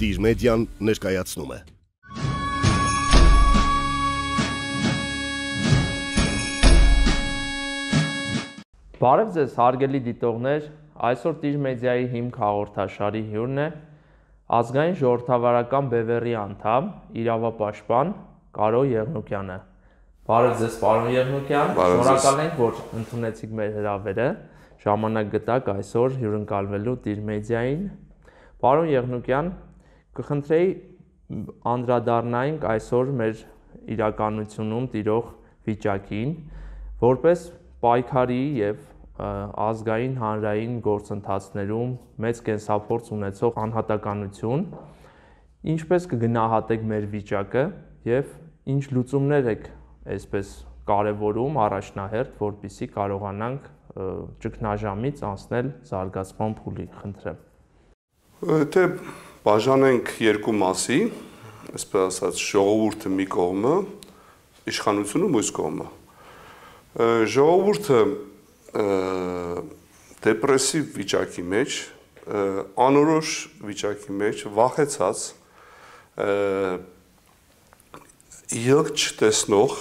Տիր մեդիան ներկայացնում է։ Բարև ձեզ հարգելի դիտողներ, այսօր Տիր մեդիայի հիմք հաղորդաշարի հյուրն է ազգային ժողովրդավարական բևեռի անդամ, իրավապաշտպան Կարո Եղնուկյանը։ Բարև ձեզ, պարոն Եղնուկյան, շնորհակալ ենք, որ ընդունեցիք մեր հրավերը, ժամանակ գտաք այսօր հյուրընկալվելու Տիր մեդիային։ Պարոն Եղնուկյան, կխնդրեի անդրադառնայինք այսօր մեր իրականությունում տիրող վիճակին, որպես պայքարի եւ ազգային հանրային գործընթացներում մեծ կենսափորձ ունեցող անհատականություն, ինչպես կգնահատեք մեր վիճակը եւ ինչ լուծումներ եք այսպես կարևորում առաջնահերթ, որպեսզի կարողանանք ճգնաժամից անցնել զարգացման փուլի, խնդրեմ։ Թե բաժանենք երկու մասի, այսպես ասած, ժողովուրդը մի կողմը, իշխանությունը մյուս կողմը։ Ժողովուրդը դեպրեսիվ վիճակի մեջ, անորոշ վիճակի մեջ, վախեցած, ելք չտեսնող,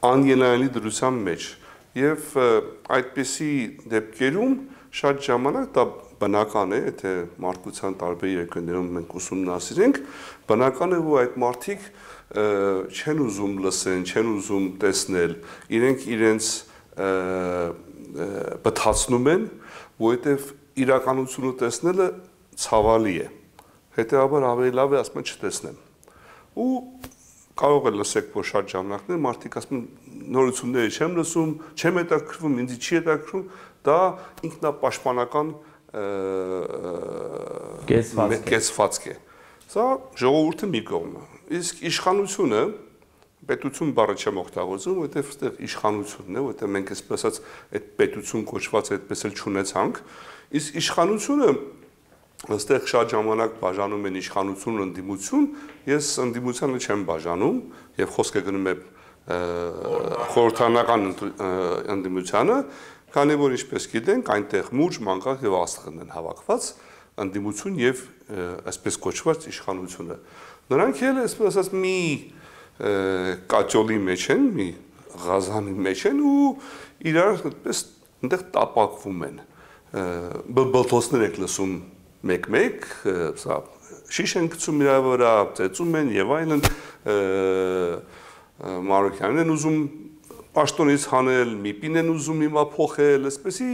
անգենայինի դրության մեջ եւ այդպիսի դեպքերում շատ ժամանակ դա բնական է, եթե մարդկության տարբեր երկրներում մենք ուսումնասիրենք, բնական է, որ այդ մարդիկ չեն ուզում լսեն, չեն ուզում տեսնել, իրենք իրենց բթացնում են, որովհետև իրականությունը տեսնելը ցավալի է, հետեւաբար ավելի լավ է ասում չտեսնեմ։ Ու կարող է լսեք, որ շատ ժամանակներ մարդիկ ասում են նորությունները չեմ լսում, չեմ հետաքրքրվում, ինձ չի հետաքրքրում, դա ինքնապաշտպանական կեցվածք է։ Սա ժողովուրդը մի կողմը։ Իսկ իշխանությունը, պետություն բառը չեմ օգտագործում, որովհետև այստեղ իշխանությունն է, որովհետև մենք այսպես ասած այդ պետություն կոչված այդպես էլ չունեցանք, իսկ իշխանությունը այստեղ շատ ժամանակ բաժանում են իշխանություն, ընդդիմություն, ես ընդդիմությանը չեմ բաժանում եւ խոսքը գնում է խորհրդարանական ընդդիմությանը, քանի որ ինչպես գիտենք, այնտեղ մուրջ, մանկախ եւ աստղն են հավաքված ընդդիմություն եւ այսպես կոչված իշխանությունը։ Նրանք էլ այսպես ասած մի կաճոլի մեջ են, մի ղազանի մեջ են ու իրար այդպես այնտեղ տապակվում են։ Բլբլթոցներ եք լսում մեկ-մեկ, սա շիշ են գցում իրա վրա, ծեծում են եւ այլն, Մարոկյանն են ուզում պաշտոնից հանել, միպին են ուզում հիմա փոխել, այսպեսի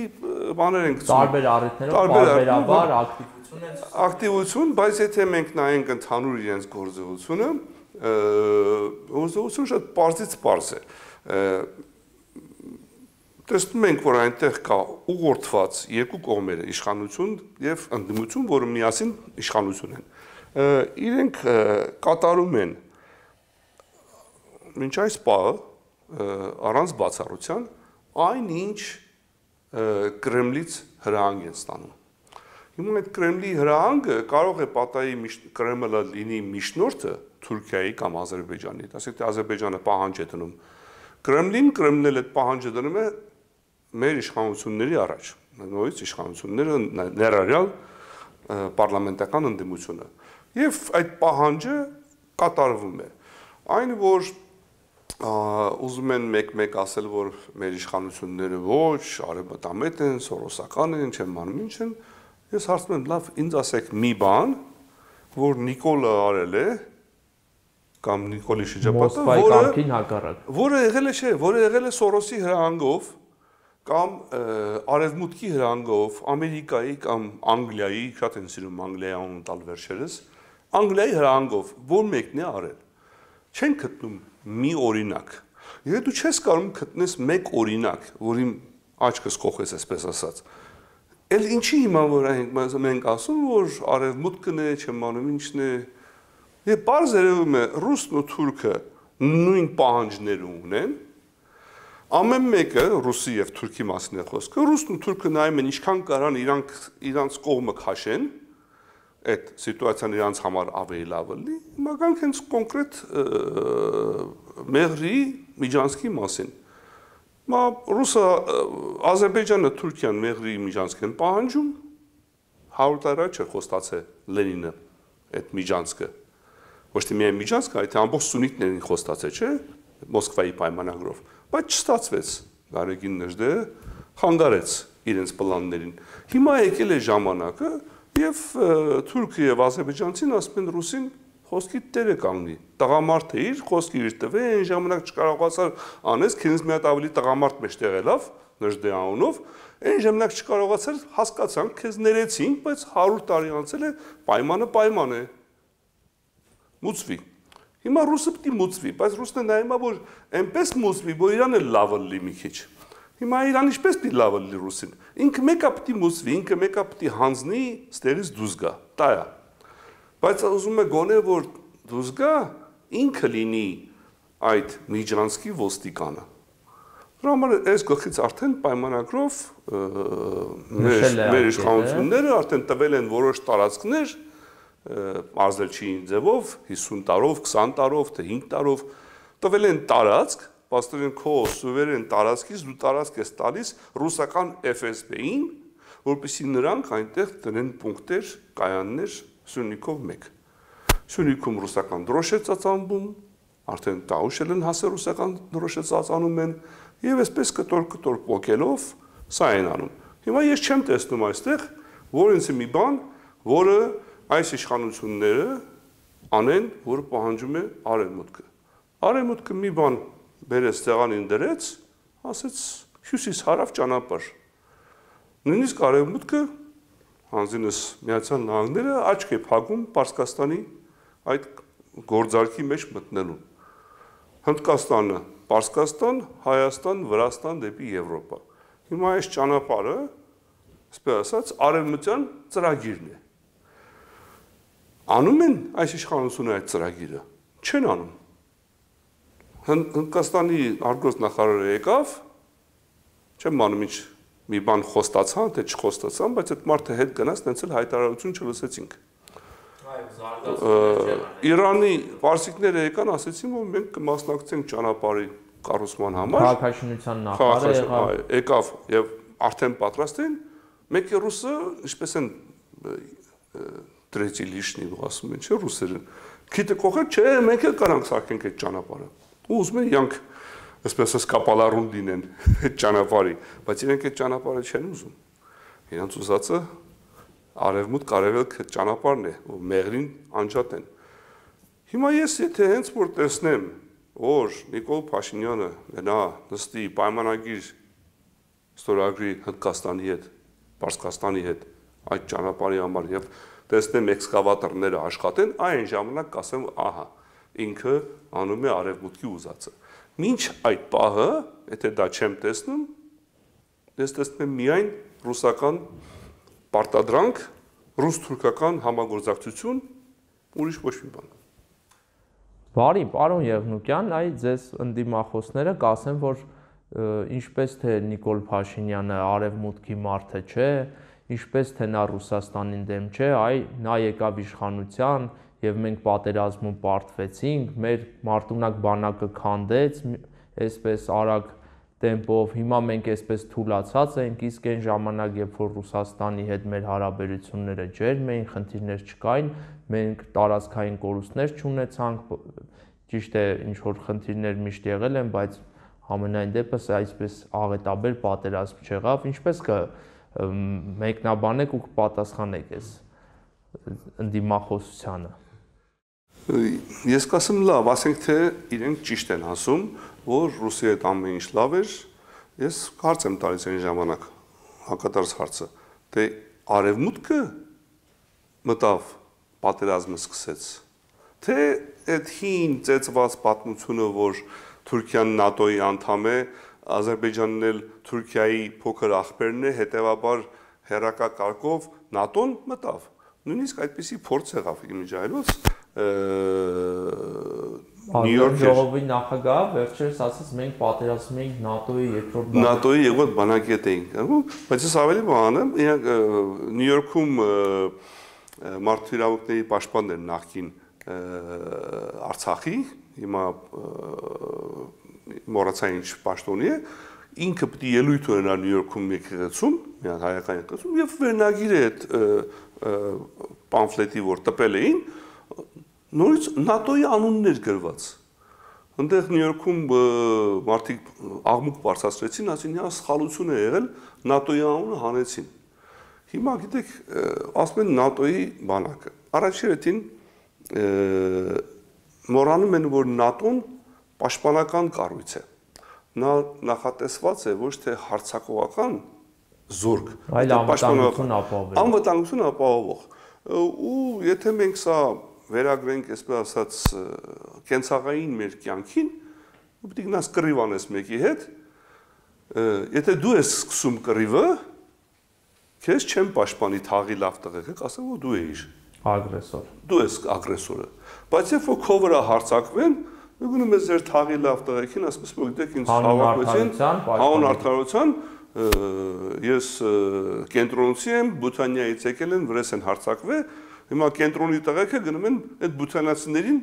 բաներ են գցում։ Տարբեր առիթներով բարբերաբար ակտիվություն են։ Ակտիվություն, բայց եթե մենք նայենք ընդհանուր իրենց գործողությունը, գործողությունը շատ պարզից պարզ է։ Տեսնում ենք, որ այնտեղ կա ուղղորդված երկու կողմերը, իշխանություն եւ ընդդիմություն, որը միասին իշխանություն են։ Իրենք կատարում են մինչ այս պահը առանց բացառության այնինչ Կրեմլից հրահանգ են ստանում։ Հիմա այդ Կրեմլի հրահանգը կարող է պատահի Կրեմլը լինի միջնորդը Թուրքիայի կամ Ադրբեջանի, ասենք թե Ադրբեջանը պահանջ է դնում Կրեմլին էլ այդ պահանջը դնում է մեր իշխանությունների առաջ, նույնիսկ իշխանությունները ներառյալ պարլամենտական ընդդիմությունը։ Եվ այդ պահանջը կատարվում է։ Այն որ ուզում են մեկ-մեկ ասել, որ մեր իշխանությունները ոչ, արևմտամետ են, սորոսական են, չեմ անում ինչ են, ես հարցնում եմ, լավ, ինձ ասեք մի բան, որ Նիկոլը արել է, կամ Նիկոլի շրջապատը, որը եղել է Սորոսի հրահանգով, կամ արևմուտքի հրահանգով, Ամերիկայի կամ Անգլիայի, շատ են սիրում Անգլիայի անուն տալ վերջերս, Անգլիայի հրահանգով, որ մեկն է արել։ Չեն գտնում մի օրինակ։ Եթե դու չես կարող գտնես մեկ օրինակ, որին աչքս կողես, այսպես ասած, էլ ինչի հիմա որ մենք ասում, որ արևմուտքն է, չեմ անում ինչն է, եւ բարձ երևում է ռուսն ու թուրքը նույն պահանջները ունեն, ամեն մեկը ռուսի եւ թուրքի մասին է խոսքը, ռուսն ու թուրքը նայում են ինչքան կարան իրանց կողմը քաշեն, այդ սիտուացիան իրանց համար ավելի լավ լինի, հիմա գանք հենց կոնկրետ Մեղրի Միջանցքի մասին։ Հիմա Ռուսը, Ադրբեջանը, Թուրքիան Մեղրի Միջանցք են պահանջում, 100 տարի չէ խոստացել Լենինը այդ միջանցքը։ Ոչ թե միայն միջանցքը, այլ թե ամբողջ սուննիտներին խոստացել, չէ՞, Մոսկվայի պայմանագրով, բայց չստացվեց։ Գարեգին Նժդեհը խանգարեց իրենց պլաններին։ Հիմա եկել է ժամանակը եւ թուրքը եւ ազերբայջանցին ասում են ռուսին խոսքի տերը կանգնի։ Տղամարդ է իր խոսքի իր տվե, այն ժամանակ չկարողացար անես, քինս մի հատ ավելի տղամարդ մեջտեղ ելավ Նժդեհ անունով, այն ժամանակ չկարողացար հասկացանք, քեզ ներեցինք, բայց 100 տարի անցել է, պայմանը պայման է։ Մուծվի։ Հիմա ռուսը պիտի մուծվի, բայց ռուսն է նայում, որ այնպես մուծվի, որ իրան էլ լավը լի մի քիչ։ Հիմա իրան ինչպես պիտի լավը լի ռուսին։ Ինքը մեկը պիտի մուծվի, ինքը մեկը պիտի հանձնի, ստերից դուրս գա։ Դա է։ Բայց ուզում է գոնե որ դուրս գա, ինքը լինի այդ միջանցքի ոստիկանը։ Դրա համար այս գլխից արդեն պայմանագրով մեր իշխանությունները արդեն տվել են որոշ տարածքներ մարզել չի ձևով 50 տարով, 20 տարով, թե 5 տարով տվել են տարածք, պաստորեն քո սուվերեն տարածքից դու տարածք ես տալիս ռուսական FSB-ին, որպեսզի նրանք այնտեղ տնեն պունկտեր, կայաններ Սյունիքով 1։ Սյունիքում ռուսական դրոշ է ծածանվում, արդեն տաուշել են հասել ռուսական դրոշ է ծածանում են եւ այսպես կտոր պոկելով սա են անում։ Հիմա ես չեմ տեսնում այստեղ, որ ինձ մի բան, որը այս իշխանությունները անեն, որը պահանջում է արևմուտքը։ Արևմուտքը մի բան բերեց ցեղանին դրեց, ասեց հյուսիս հարավ ճանապարհ։ Նույնիսկ արևմուտքը հանձինս Միացյալ Նահանգները աչք է փակում Պարսկաստանի այդ գործարքի մեջ մտնելու։ Հնդկաստանը, Պարսկաստան, Հայաստան, Վրաստան դեպի Եվրոպա։ Հիմա այս ճանապարհը, այսպես ասած, արևմտյան ծրագիրն է։ Անում են այս իշխանությունը այդ ծրագիրը, չեն անում։ Հնդկաստանի արտգործնախարարը եկավ, չեմ անում ինչ մի բան խոստացան, թե չխոստացան, բայց այդ մարդը հետ գնաց, նենց էլ հայտարարություն չլսեցինք։ Իրանի պարսիկները եկան, ասեցին, որ մենք կմասնակցենք ճանապարհի կառուցման համար։ Քաղաքաշինության նախարարը եկավ եւ արդեն պատրաստ են, մեկ է ռուսը, ինչպես են Третий лишний ասում են, չէ՞ ռուսերը։ Քիթը կողել, չէ, մենք էլ կարանք սարքենք այդ ճանապարհը։ Ու ուզում են իրանք այսպես կապալարուն դինեն այդ ճանապարհի, բայց իրենք այդ ճանապարհը չեն ուզում։ Իրանց ուզածը արևմուտք-արևելք ճանապարհն է, որ մեղրին անջատեն։ Հիմա ես եթե հենց որ տեսնեմ, որ Նիկոլ Փաշինյանը գնա նստի պայմանագիր ստորագրի Հնդկաստանի հետ, Պարսկաստանի հետ այդ ճանապարհի համար եւ տեսնեմ էքսկավատորները աշխատեն, այն ժամանակ կասեմ, ահա, ինքը անում է արևմուտքի ուզածը։ Մինչ այդ պահը, եթե դա չեմ տեսնում, ես տեսնում եմ միայն ռուսական պարտադրանք, ռուս-թուրքական համագործակցություն, ուրիշ ոչ մի բան։ Բարի, պարոն Եղնուկյան, այ ձեզ ընդդիմախոսները կասեն, որ ինչպես թե Նիկոլ Փաշինյանը արևմուտքի մարդը չէ, ինչպես թե նա Ռուսաստանին դեմ չէ, այ նա եկավ իշխանության եւ մենք պատերազմում պարտվեցինք, մեր մարտունակ բանակը քանդեց, այսպես արագ տեմպով, հիմա մենք այսպես թուլացած ենք, իսկ այն ժամանակ, երբ որ Ռուսաստանի հետ մեր հարաբերությունները ջերմ էին, խնդիրներ չկային, մենք տարածքային կորուստներ չունեցանք, ճիշտ է, ինչ որ խնդիրներ միշտ եղել են, բայց ամենայն դեպս այսպես աղետաբեր պատերազմ չեղավ, ինչպես մեկնաբանեք ու կպատասխանեք այս ընդդիմախոսությանը։ Ես կասեմ լավ, ասենք թե իրենք ճիշտ են ասում, որ Ռուսիայի հետ ամեն ինչ լավ էր, ես հարց եմ տալիս այն ժամանակ, հակադարձ հարցը, թե արևմուտքը մտավ պատերազմը սկսեց, թե այդ հին ծեծված պատմությունը, որ Թուրքիան ՆԱՏՕ-ի անդամ է, Ադրբեջանն էլ Թուրքիայի փոքր ախպերն է, հետևաբար հերակակարգով ՆԱՏՕ-ն մտավ։ Նույնիսկ այդպիսի փորձ եղավ իմիջայլոց Նյու Յորքի ժողովի նախագահը վերջերս ասաց մենք պատերազմում ենք ՆԱՏՕ-ի երկրորդ բանակետ էինք, բայց ես ավելի բան եմ, Նյու Յորքում մարդու իրավունքների պաշտպանն էր նախկին Արցախի, հիմա մոռացա ինչ պաշտոնի է, ինքը պետք է ելույթ ունենա Նյու Յորքում եկեղեցում, մի հատ հայկական եկեղեցում, եւ վերնագիրը այդ պամֆլետի որ տպել էին, նորից ՆԱՏՕ-ի անուններ գրված։ Այնտեղ Նյու Յորքում մարդիկ աղմուկ բարձրացրեցին, ասին հա սխալություն է եղել, ՆԱՏՕ-ի անունը հանեցին։ Հիմա գիտեք, ասում են ՆԱՏՕ-ի բանակը։ Առաջերտին մոռանում են, որ ՆԱՏՕ-ն պաշտպանական կառույց է։ Նա նախատեսված է ոչ թե հարձակողական զորք, այլ անվտանգություն ապահովող։ Անվտանգություն ապահովող։ Ու եթե մենք սա վերագրենք, այսպես ասած, կենցաղային մեր կյանքին, ու պետք է գնաս կռիվ անես մեկի հետ, եթե դու ես սկսում կռիվը, քեզ չեմ պաշտպանի թաղի լավ տղեկ, ասեմ, որ դու ես ագրեսոր։ Դու ես ագրեսորը։ Բայց երբ որ քո վրա հարձակվեն, դու գնում ես ձեր թաղի լավ տղեկին, ասում ես, որ գիտեք, ինձ հավաքվեցին, հանուն արդարության, ես կենտրոնացի եմ, Բութանիայից եկել են, վրես են հարձակվել, հիմա կենտրոնի տղեկը գնում են այդ բութանացիներին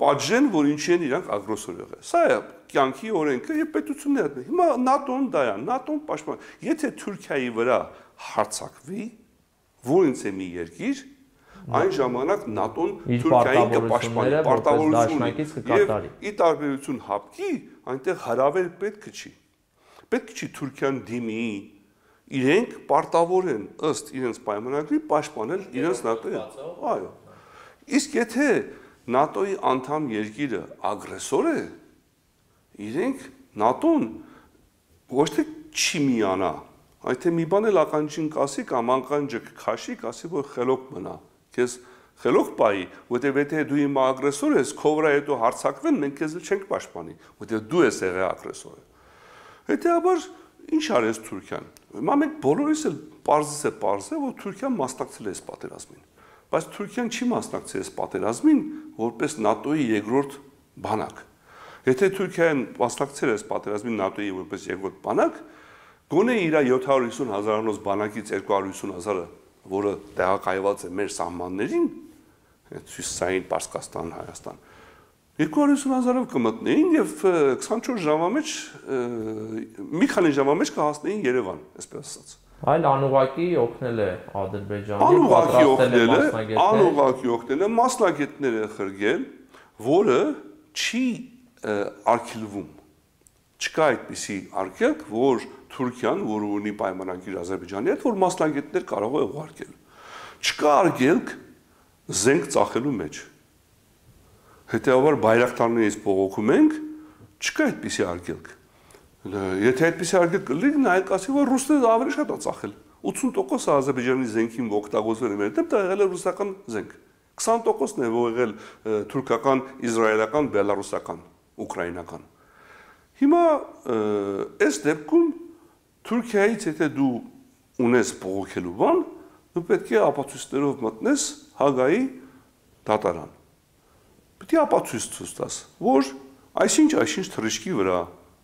պատժեն, որ ինչի են իրանք ագրեսոր եղել։ Սա է կյանքի օրենքը եւ պետությունները։ Հիմա ՆԱՏՕ-ն դա է, ՆԱՏՕ-ն պաշտպան։ Եթե Թուրքիայի վրա հարձակվի, որից է մի երկիր, այն ժամանակ ՆԱՏՕ-ն Թուրքիային կպաշտպանի, պարտավորություն եւ ի տարբերություն ՀԱՊԿ-ի, այնտեղ հրավեր պետք չի։ Պետք չի Թուրքիան դիմի, իրենք պարտավոր են ըստ իրենց պայմանագրի պաշտպանել իրենց ՆԱՏՕ-ին։ Այո։ Իսկ եթե ՆԱՏՕ-ի անդամ երկիրը ագրեսոր է, իրենք ՆԱՏՕ-ն ոչ թե չի միանա, այլ թե մի բան էլ ականջին կասի կամ ականջը քաշի, կասի, որ խելոք մնա։ Քեզ խելոք պայի, որտեղ եթե դու իմ ագրեսոր ես, քո վրա հետո հարձակվեն, մենք քեզ չենք պաշտպանի, որտեղ դու ես եղել ագրեսորը։ Հետեւաբար ինչ արեց Թուրքիան։ Հիմա մենք բոլորիս էլ պարզես է, որ Թուրքիան մասնակցել է այս պատերազմին։ Բայց Թուրքիան չի մասնակցել այս պատերազմին որպես ՆԱՏՕ-ի երկրորդ բանակ։ Եթե Թուրքիան մասնակցել է այս պատերազմին ՆԱՏՕ-ի որպես երկրորդ բանակ, գոնե իր 750,000-անոց բանակից 250,000-ը, որը տեղակայված է մեր սահմաններին, Հյուսիսային Պարսկաստան, Հայաստան, 250,000-ով կմտնեին եւ 24 ժամվա մեջ մի քանի ժամվա մեջ կհասնեին Երևան, այսպես ասած։ Այլ անուղակի օգնել է Ադրբեջանին, անուղակի օգնել է, մասնագետները խրգել, որը չի արգելվում։ Չկա այդպիսի արգելք, որ Թուրքիան, որը ունի պայմանագիր Ադրբեջանի հետ, որ մասնագետներ կարող է ուղարկել։ Չկա արգելք զենք ծախելու մեջ։ Հետեւաբար բայրակտարներից բողոքում ենք, չկա այդպիսի արգելք։ Եթե այդպիսի արգելք կլինի, նայել կասի, որ ռուսները ավելի շատ է ծախել։ 80% Ադրբեջանի զենքին օգտագործվել է մեր դեմ, դա եղել է ռուսական զենք։ 20%-ն է եղել թուրքական, իսրայելական, բելարուսական, ուկրաինական։ Հիմա այս դեպքում Թուրքիայից եթե դու ունես բողոքելու բան, դու պետք է ապացույցներով մտնես Հագայի դատարան։ Պետք է ապացույց ցույց տաս, որ այսինչ թռիչքի վրա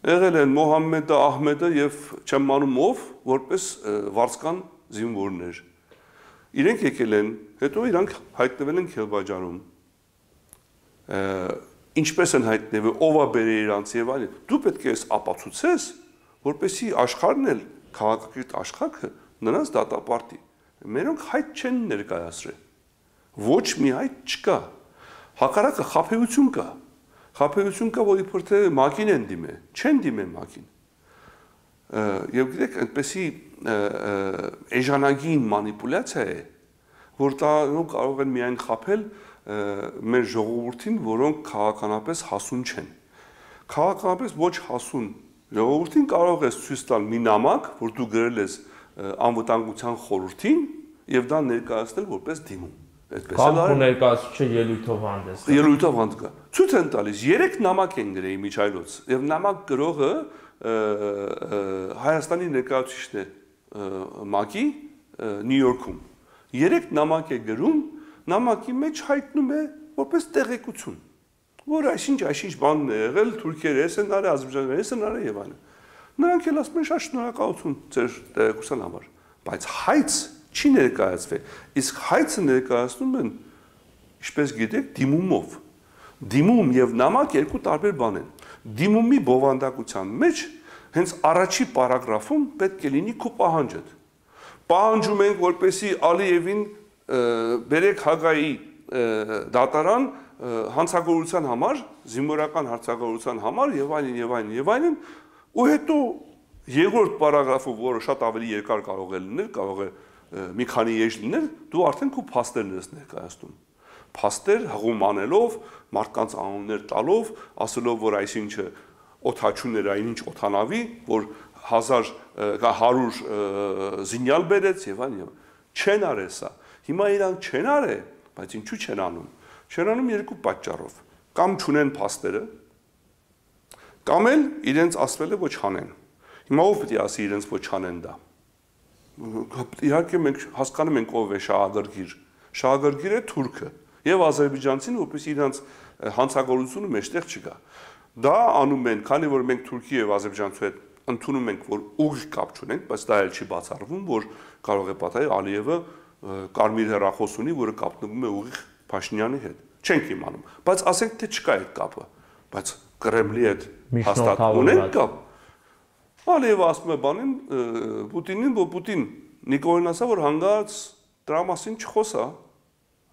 եղել են Մոհամմեդը, Ահմեդը եւ չեմ մանում ով, որպես վարձկան զինվորներ։ Իրենք եկել են, հետո իրանք հայտնվել են Քելբաջարում։ Ինչպես են հայտնվել, ով է բերել իրանց եւ այլն։ Դու պետք է ապացուցես, որպեսզի աշխարհն էլ քաղաքակիրթ աշխարհը նրանց դատապարտի։ Մերոնք հայտ չեն ներկայացրել։ Ոչ մի հայտ չկա։ Հակառակը խաբեություն կա։ Խաբեություն կա, որ իբր թե ՄԱԿ-ին են դիմել, չեն դիմել ՄԱԿ-ին։ Եվ գիտեք, այնպեսի էժանագին մանիպուլյացիա է, որ դա կարող են միայն խաբել մեր ժողովրդին, որոնք քաղաքականապես հասուն չեն։ Քաղաքականապես ոչ հասուն ժողովրդին կարող ես ցույց տալ մի նամակ, որ դու գրել ես անվտանգության խորհրդին եւ դա ներկայացնել որպես դիմում։ Կամ ներկայացուցիչը ելույթով հանդես։ Ելույթով հանդես գա։ Ցույց են տալիս 3 նամակ են գրել միջայլոց եւ նամակ գրողը Հայաստանի ներկայացուցիչն է ՄԱԿ-ի Նյու Յորքում։ 3 նամակ է գրում, նամակի մեջ հայտնում է որպես տեղեկություն, որ այսինչ բան է եղել, թուրքերը էս են արել, ադրբեջանցիները էս են արել եւ այլն։ Նրանք էլ ասում են շատ շնորհակալություն ձեր տեղեկության համար, բայց հայց չի ներկայացվել։ Իսկ հայցը ներկայացնում են, ինչպես գիտեք, դիմումով։ Դիմում եւ նամակ երկու տարբեր բան են։ Դիմումի բովանդակության մեջ հենց առաջի պարագրաֆում պետք է լինի քո պահանջդ։ Պահանջում ենք, որպեսի Ալիևին բերեք Հագայի դատարան հանցագործության համար, զինվորական հանցագործության համար եւ այլն, ու հետո երկրորդ պարագրաֆը, որը շատ ավելի երկար կարող է լինել, կարող է մի քանի էջ լինել, դու արդեն քո փաստերն ես ներկայացնում։ Փաստեր հղում անելով, մարդկանց անուններ տալով, ասելով, որ այսինչը օթաչուներ այնինչ օթանավի, որ 100 զինյալ բերեց եւ այլն։ Չեն արել սա։ Հիմա իրանք չեն արել, բայց ինչու չեն անում։ Չեն անում երկու պատճառով։ Կամ չունեն փաստերը, կամ էլ իրենց ասվել է ոչ անեն։ Հիմա ով պետք է ասի իրենց ոչ անեն դա։ Իհարկե մենք հասկանում ենք ով է շահագրգիռ։ Շահագրգիռը թուրքը եւ ադրբեջանցին, որպես իրանց հանցագործությունը մեջտեղ չկա։ Դա անում են, քանի որ մենք Թուրքի եւ Ադրբեջանցու հետ ընդունում ենք, որ ուղիղ կապ չունենք, բայց դա էլ չի բացառվում, որ կարող է պատահել Ալիևը կարմիր հեռախոս ունի, որը կապնվում է ուղիղ Փաշինյանի հետ։ Չենք իմանում, բայց ասենք թե չկա այդ կապը, բայց Կրեմլի հետ հաստատ ունենք կապ։ Ալիևը ասում է բանին Պուտինին, որ Պուտին Նիկոլին ասա, որ հանգարց դրա մասին չխոսա,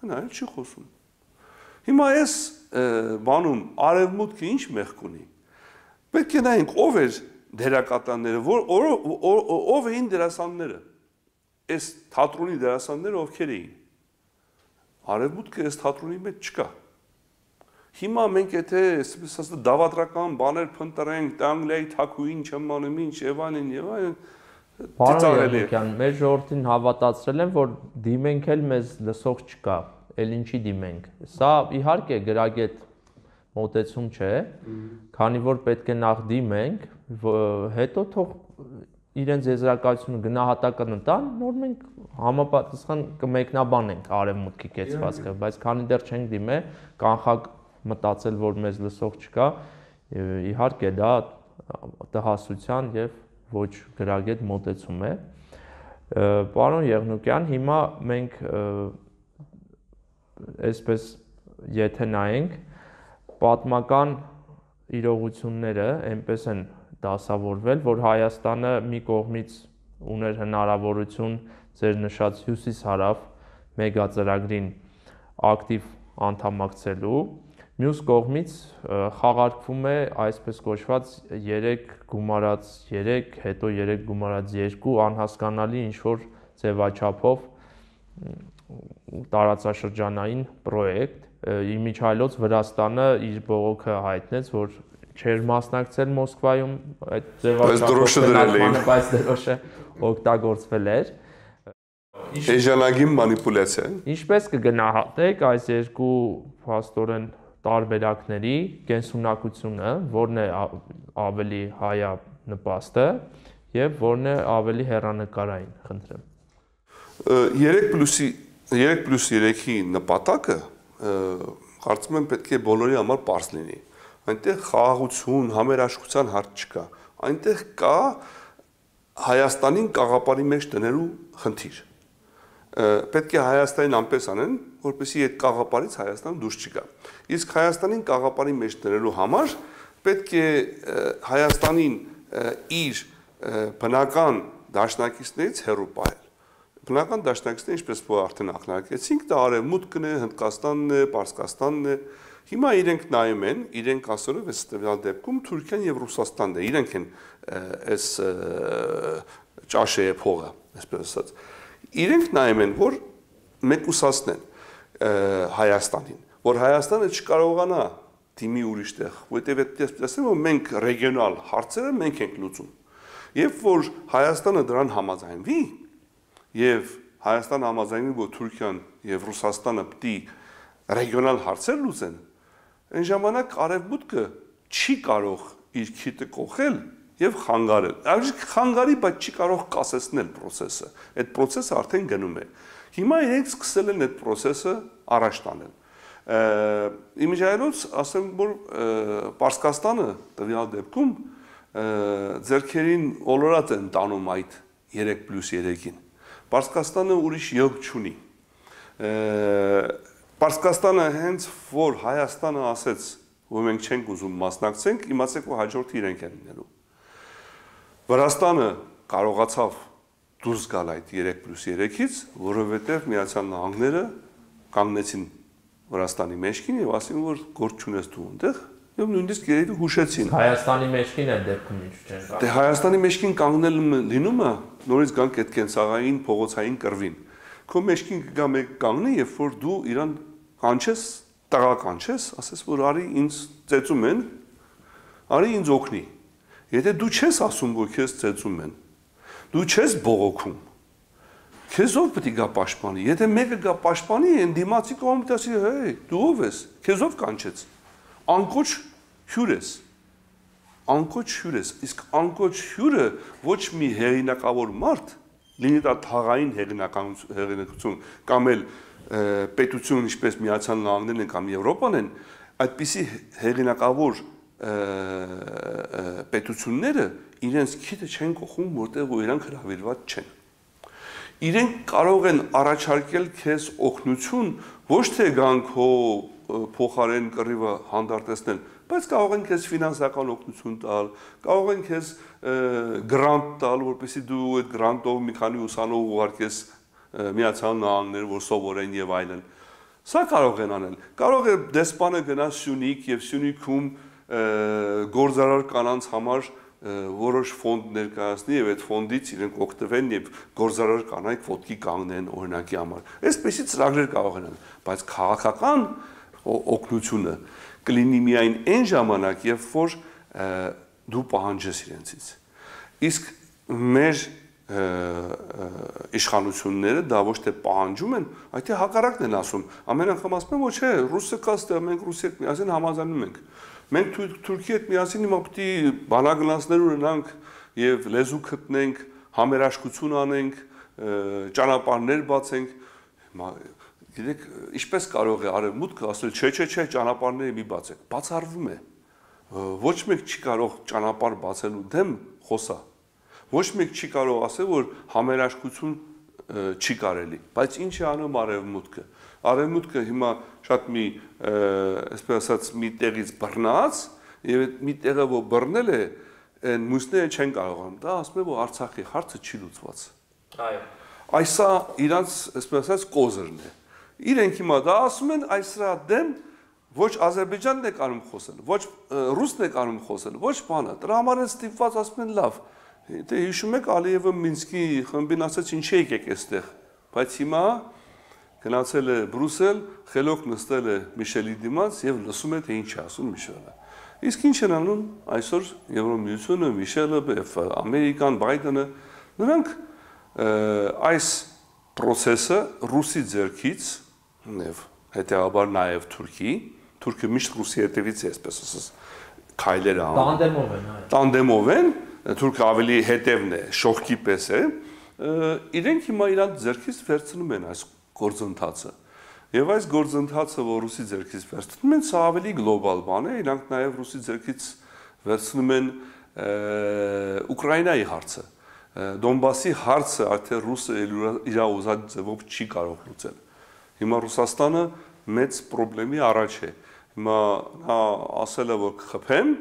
նա էլ չի խոսում։ Հիմա այս բանում արևմուտքը ինչ մեղք ունի։ Պետք է նայենք ով էր դերակատարները, ով էին դերասանները։ Այս թատրոնի դերասանները ովքեր էին։ Արևմուտքը այս թատրոնի մեջ չկա։ Հիմա մենք եթե այսպես դավադրական բաներ փնտրենք, Անգլիայի թակուին չեմ անում ինչ եւ այլն, Պարոն Եղիկյան, մեր ժողովրդին հավատացրել են, որ դիմենք էլ մեզ լսող չկա, էլ ինչի դիմենք։ Սա իհարկե գրագետ մոտեցում չէ, քանի որ պետք է նախ դիմենք, հետո թող իրենց եզրակացությունը գնահատական տան, նոր մենք համապատասխան կմեկնաբանենք արևմուտքի կեցվածքը, բայց քանի դեռ չենք դիմել, կանխակ մտածել, որ մեզ լսող չկա, իհարկե դա տհասության եւ ոչ գրագետ մոտեցում է։ Պարոն Եղնուկյան, հիմա մենք այսպես եթե նայենք պատմական իրողությունները այնպես են դասավորվել, որ Հայաստանը մի կողմից ուներ հնարավորություն ձեր նշած հյուսիս-հարավ մեգածրագրին ակտիվ անդամակցելու, մյուս կողմից խաղարկվում է այսպես կոչված 3 գումարած 3, հետո 3 գումարած 2 անհասկանալի ինչ-որ ձևաչափով տարածաշրջանային պրոյեկտ, իմիջիայլոց Վրաստանը իր բողոքը հայտնեց, որ չէր մասնակցել Մոսկվայում այդ ձևաչափով, բայց դրոշը օգտագործվել էր։ Էժանագին մանիպուլյացիա։ Ինչպես կգնահատեք այս երկու փաստորեն տարբերակների կենսունակությունը, որն է ավելի հայանպաստը եւ որն է ավելի հեռանկարային, խնդրեմ։ 3+3-ի նպատակը կարծում եմ պետք է բոլորի համար պարզ լինի։ Այնտեղ խաղաղություն, համերաշխության հարց չկա։ Այնտեղ կա Հայաստանին կաղապարի մեջ դնելու խնդիր։ Պետք է Հայաստանին անպես անեն, որպեսզի այդ կաղապարից Հայաստանը դուրս չգա։ Իսկ Հայաստանին կաղապարի մեջ դնելու համար պետք է Հայաստանին իր բնական դաշնակիցներից հեռու պահել։ Բնական դաշնակիցները, ինչպես որ արդեն ակնարկեցինք, դա Արևմուտքն է, Հնդկաստանն է, Պարսկաստանն է։ Հիմա իրենք նայում են, իրենք ասելով այս տվյալ դեպքում Թուրքիան եւ Ռուսաստանն է, իրենք են այս ճաշեի փողը, այսպես ասած։ Իրենք նայում են, որ մեկուսացնեն Հայաստանին, որ Հայաստանը չկարողանա դիմի ուրիշ տեղ, որտեղ ասեմ, որ մենք ռեգիոնալ հարցերը մենք ենք լուծում։ Եվ որ Հայաստանը դրան համաձայնվի, եւ Հայաստանը համաձայնվի, որ Թուրքիան եւ Ռուսաստանը պիտի ռեգիոնալ հարցեր լուծեն, այն ժամանակ Արևմուտքը չի կարող իր քիթը կողել եւ խանգարել։ Այսինքն խանգարի, բայց չի կարող կասեցնել process-ը։ Այդ process-ը արդեն գնում է։ Հիմա իրենք սկսել են այդ process-ը առաջ տանել։ Իմիջիայլոց ասեմ, որ Պարսկաստանը տվյալ դեպքում ձեռքերին ոլորած են տանում այդ 3+3-ին։ Պարսկաստանը ուրիշ ելք չունի։ Պարսկաստանը հենց որ Հայաստանը ասեց, որ մենք չենք ուզում մասնակցենք, իմացեք, որ հաջորդը իրենք են լինելու։ Վրաստանը կարողացավ դուրս գալ այդ 3+3-ից, որովհետև Միացյալ Նահանգները կանգնեցին Վրաստանի մեջքին եւ ասին որ գործ չունես դու այնտեղ եւ նույնիսկ երևի հուշեցին Հայաստանի մեջքին է դեպքում ինչ չեն կարող։ Դե Հայաստանի մեջքին կանգնել լինում է նորից գանք այդ կենցաղային փողոցային կռվին։ Քո մեջքին կգա մեկ կանգնի, երբ որ դու իրան կանչես, տղա կանչես, ասես որ արի ինձ ծեծում են, արի ինձ օգնի։ Եթե դու չես ասում որ քեզ ծեծում են, դու չես բողոքում, քեզ ով պետք է գա պաշտպանի։ Եթե մեկը գա պաշտպանի, այն դիմացի կողմից ասի, հեյ, դու ով ես, քեզ ով կանչեց։ Անկոչ հյուր ես։ Անկոչ հյուր ես, իսկ անկոչ հյուրը ոչ մի հեղինակավոր մարդ, լինի դա թաղային հեղինակություն կամ էլ պետություն ինչպես Միացյալ Նահանգներն են կամ Եվրոպան են, այդպիսի հեղինակավոր պետությունները իրենց քիթը չեն կողում, որտեղ որ իրանք հրավիրված չեն։ Իրենք կարող են առաջարկել քեզ օգնություն, ոչ թե գան քո փոխարեն կռիվը հանդարտեցնել, բայց կարող են քեզ ֆինանսական օգնություն տալ, կարող են քեզ գրանտ տալ, որպեսզի դու այդ գրանտով մի քանի ուսանող ուղարկես Միացյալ Նահանգներ, որ սովորեն եւ այլն։ Սա կարող են անել։ Կարող է դեսպանը գնա Սյունիք եւ Սյունիքում գործարար կանանց համար որոշ ֆոնդ ներկայացնի եւ այդ ֆոնդից իրենք օգտվեն եւ գործարար կանայք ոտքի կանգնեն օրինակի համար։ Այսպեսի ծրագրեր կարող են անել, բայց քաղաքական օգնությունը կլինի միայն այն ժամանակ, երբ որ դու պահանջես իրենցից։ Իսկ մեր իշխանությունները դա ոչ թե պահանջում են, այլ թե հակառակն են ասում։ Ամեն անգամ ասում են, ոչ է, ռուսը կա ստեղ, մենք ռուսի հետ միասին համաձայնում ենք։ Մենք Թուրքիի հետ միասին հիմա պետք է բանագնացներ ունենանք եւ լեզու գտնենք, համերաշխություն անենք, ճանապարհներ բացենք։ Գիտեք, ինչպես կարող է արևմուտքը ասել, չէ, ճանապարհները մի բացեք։ Բացառվում է։ Ոչ մեկ չի կարող ճանապարհ բացելու դեմ խոսա։ Ոչ մեկ չի կարող ասել, որ համերաշխություն չի կարելի, բայց ինչ է անում արևմուտքը։ Արևմուտքը հիմա շատ մի, այսպես ասած, մի տեղից բռնած, եւ այդ մի տեղը որ բռնել է, այն մյուսները չեն կարողանում։ Դա ասում է, որ Արցախի հարցը չի լուծված։ Այո։ Այսա իրանց, այսպես ասած, կոզրն է։ Իրենք հիմա դա ասում են, այս սրա դեմ ոչ Ադրբեջանն է կարող խոսել, ոչ Ռուսն է կարող խոսել, ոչ բանը։ Դրա համար են ստիպված ասում են լավ։ Դե հիշում եք Ալիևը Մինսկի խմբին ասաց ինչի եկեք այստեղ, բայց հիմա գնացել է Բրուսել, խելոք նստել է Միշելի դիմաց եւ լսում է թե ինչ է ասում Միշելը։ Իսկ ինչ են անում այսօր Եվրոմիությունը, Միշելը, Ամերիկան, Բայդենը, նրանք այս process-ը ռուսի ձեռքից եւ հետեւաբար նաեւ Թուրքիը միշտ ռուսի հետևից է, այսպես ասած, քայլեր անում։ Տանդեմով են, այո։ Տանդեմով են, Թուրքը ավելի հետևն է, շողքի պես է, իրենք հիմա իրանց ձեռքից վերցնում են այս գործընթացը։ Եվ այս գործընթացը, որ ռուսի ձեռքից վերցնում են, սա ավելի գլոբալ բան է, իրանք նաև ռուսի ձեռքից վերցնում են Ուկրաինայի հարցը։ Դոնբասի հարցը արդեն ռուսը իր ուզած ձևով չի կարող լուծել։ Հիմա Ռուսաստանը մեծ խնդրի առաջ է։ Հիմա նա ասել է, որ կխփեմ,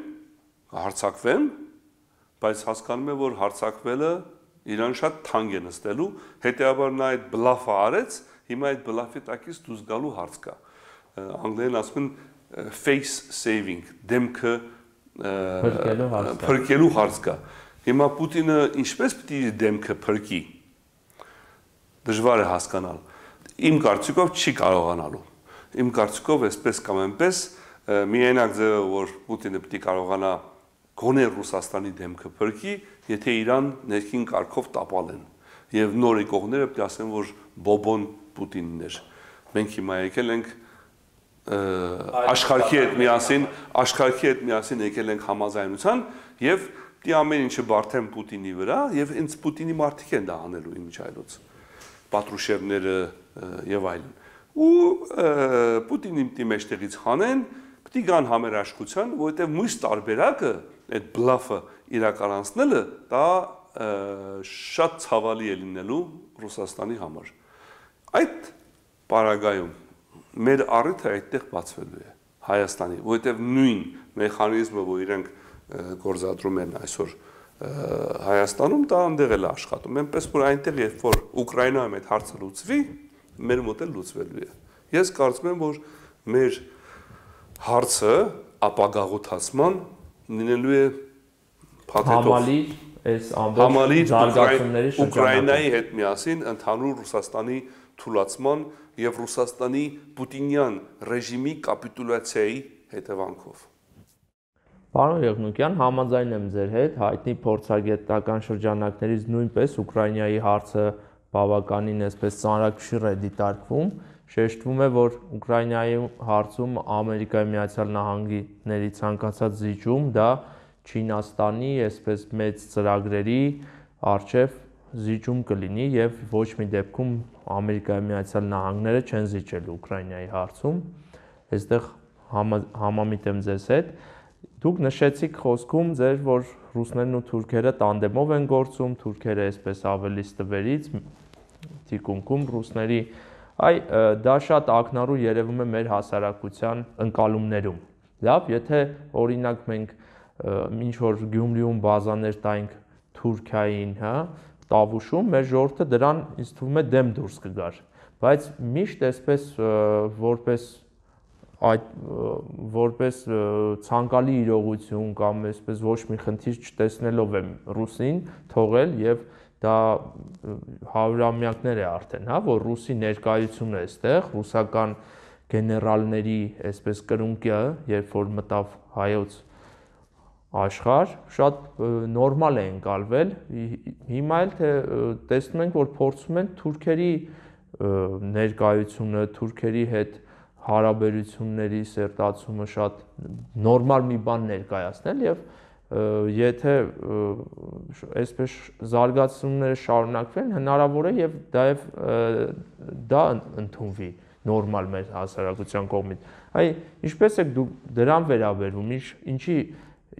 կհարձակվեմ, բայց հասկանում է, որ հարձակվելը իրան շատ թանկ է նստելու, հետեւաբար նա այդ բլաֆը արեց, հիմա այդ բլաֆի տակից դուրս գալու հարց կա։ Անգլերեն ասում են face saving, դեմքը փրկելու հարց կա։ Հիմա Պուտինը ինչպես պիտի դեմքը փրկի։ Դժվար է հասկանալ։ Իմ կարծիքով չի կարողանալու։ Իմ կարծիքով այսպես կամ այնպես միայնակ ձևը, որ Պուտինը պիտի կարողանա գոնե Ռուսաստանի դեմքը փրկի, եթե Իրան ներքին կարգով տապալեն։ Եվ նոր եկողները պետք է ասեն, որ բոբոն Պուտինն էր։ Մենք հիմա եկել ենք աշխարհի հետ միասին եկել ենք համաձայնության եւ դի ամեն ինչը բարթեն Պուտինի վրա եւ ինձ Պուտինի մարդիկ են դա անելու իմիջայլոց Պատրուշևները եւ այլն։ Ու Պուտինի մեջտեղից հանեն, պետք է գան համերաշխության, որովհետեւ մյուս տարբերակը այդ բլաֆը իրականացնելը դա շատ ցավալի է լինելու Ռուսաստանի համար։ Այդ պարագայում մեր առիթը այդտեղ բացվելու է Հայաստանի, որովհետև նույն մեխանիզմը, որ իրենք գործադրում են այսօր Հայաստանում, դա այնտեղ էլ աշխատում։ Այնպես որ այնտեղ երբ որ Ուկրաինայում այդ հարցը լուծվի, մեր մոտ էլ լուծվելու է։ Ես կարծում եմ, որ մեր հարցը ապագաղութացման լինելու է համալիր այս ամբողջ զարգացումների շրջանակում Ուկրաինայի հետ միասին ընդհանուր Ռուսաստանի թուլացման եւ Ռուսաստանի պուտինյան ռեժիմի կապիտուլյացիայի հետևանքով։ Պարոն Եղնուկյան, համաձայն եմ ձեր հետ, հայտնի փորձագետական շրջանակներից նույնպես Ուկրաինայի հարցը բավականին այսպես ծանրակշիռ է դիտարկվում, շեշտվում է, որ Ուկրաինայի հարցում Ամերիկայի Միացյալ Նահանգների ցանկացած զիջում դա Չինաստանի այսպես մեծ ծրագրերի առջև զիջում կլինի եւ ոչ մի դեպքում Ամերիկայի Միացյալ Նահանգները չեն զիջել Ուկրաինայի հարցում։ Այստեղ համամիտ եմ ձեզ հետ։ Դուք նշեցիք խոսքում ձեր, որ ռուսներն ու թուրքերը տանդեմով են գործում, թուրքերը այսպես ավելի ստվերից թիկունքում ռուսների, դա շատ ակնառու երևում է մեր հասարակության ընկալումներում։ Լավ, եթե օրինակ մենք ինչ որ Գյումրիում բազաներ տայինք Թուրքիային, հա, Տավուշում, մեր ժողովուրդը դրան ինձ թվում է դեմ դուրս կգար, բայց միշտ այսպես որպես ցանկալի իրողություն կամ այսպես ոչ մի խնդիր չտեսնելով եմ ռուսին թողել եւ դա հարյուրամյակներ է արդեն, հա, որ ռուսի ներկայությունն է այստեղ, ռուսական գեներալների այսպես կրունկը, երբ որ մտավ հայոց աշխարհ, շատ նորմալ է ընկալվել։ Հիմա էլ թե տեսնում ենք, որ փորձում են թուրքերի ներկայությունը, թուրքերի հետ հարաբերությունների սերտացումը շատ նորմալ մի բան ներկայացնել եւ եթե այսպես զարգացումները շարունակվեն, հնարավոր է եւ դա ընդունվի նորմալ մեր հասարակության կողմից։ Ինչպես եք դուք դրան վերաբերվում,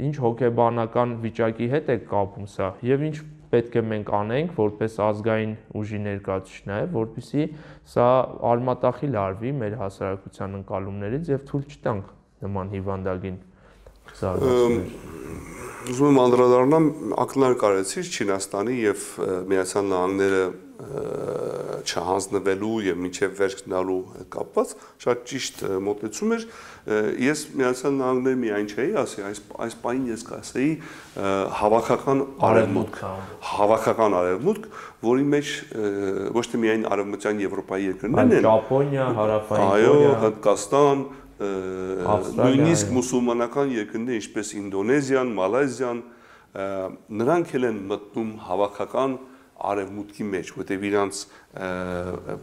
ինչ հոգեբանական վիճակի հետ է կապում սա եւ ինչ պետք է մենք անենք որպես ազգային ուժի ներկայացուցիչներ, որպեսզի սա արմատախիլ արվի մեր հասարակության ընկալումներից եւ թույլ չտանք նման հիվանդագին զարգացումներ։ Ուզում եմ անդրադառնամ ակնարկ արեցիր Չինաստանի եւ Միացյալ Նահանգները չհանձնվելու եւ մինչեւ վերջ գնալու հետ կապված շատ ճիշտ մոտեցում էր։ Ես Միացյալ Նահանգների միայն չէի ասի, այս պահին ես կասեի հավաքական արևմուտք, որի մեջ ոչ թե միայն արևմտյան Եվրոպայի երկրներն են, Ճապոնիա, Հարավային Կորեա, այո, Հնդկաստան, նույնիսկ մուսուլմանական երկրներ, ինչպես Ինդոնեզիան, Մալայզիան, նրանք էլ են մտնում հավաքական արևմուտքի մեջ, որտեղ իրանց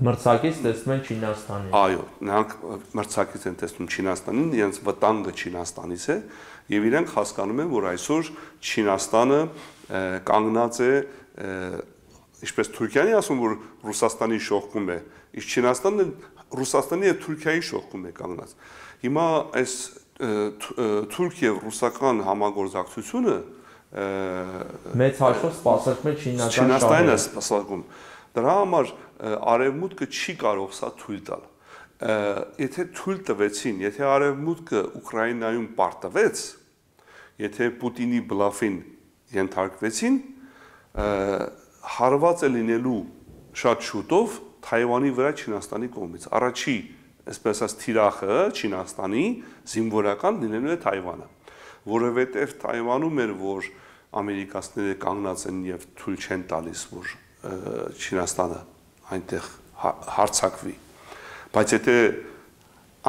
մրցակից տեսնում են Չինաստանին։ Այո, նրանք մրցակից են տեսնում Չինաստանին, իրենց վտանգը Չինաստանից է, եւ իրենք հասկանում են, որ այսօր Չինաստանը կանգնած է, ինչպես Թուրքիան ասում, որ Ռուսաստանի շողքում է, իսկ Չինաստանը Ռուսաստանի եւ Թուրքիայի շողքում է կանգնած։ Հիմա այս թուրք եւ ռուսական համագործակցությունը մեծ հաշվով սպասարկում է Չինաստանն է սպասարկում։ Դրա համար արևմուտքը չի կարող սա թույլ տալ։ Եթե թույլ տվեցին, եթե արևմուտքը Ուկրաինայում պարտվեց, եթե Պուտինի բլաֆին ենթարկվեցին, հարված է լինելու շատ շուտով Թայվանի վրա Չինաստանի կողմից։ Առաջի, այսպես ասած, թիրախը Չինաստանի զինվորական լինելու է Թայվանը, որովհետև Թայվանում էր, որ ամերիկացիները կանգնած են եւ թույլ չեն տալիս, որ Չինաստանը այնտեղ հարձակվի։ Բայց եթե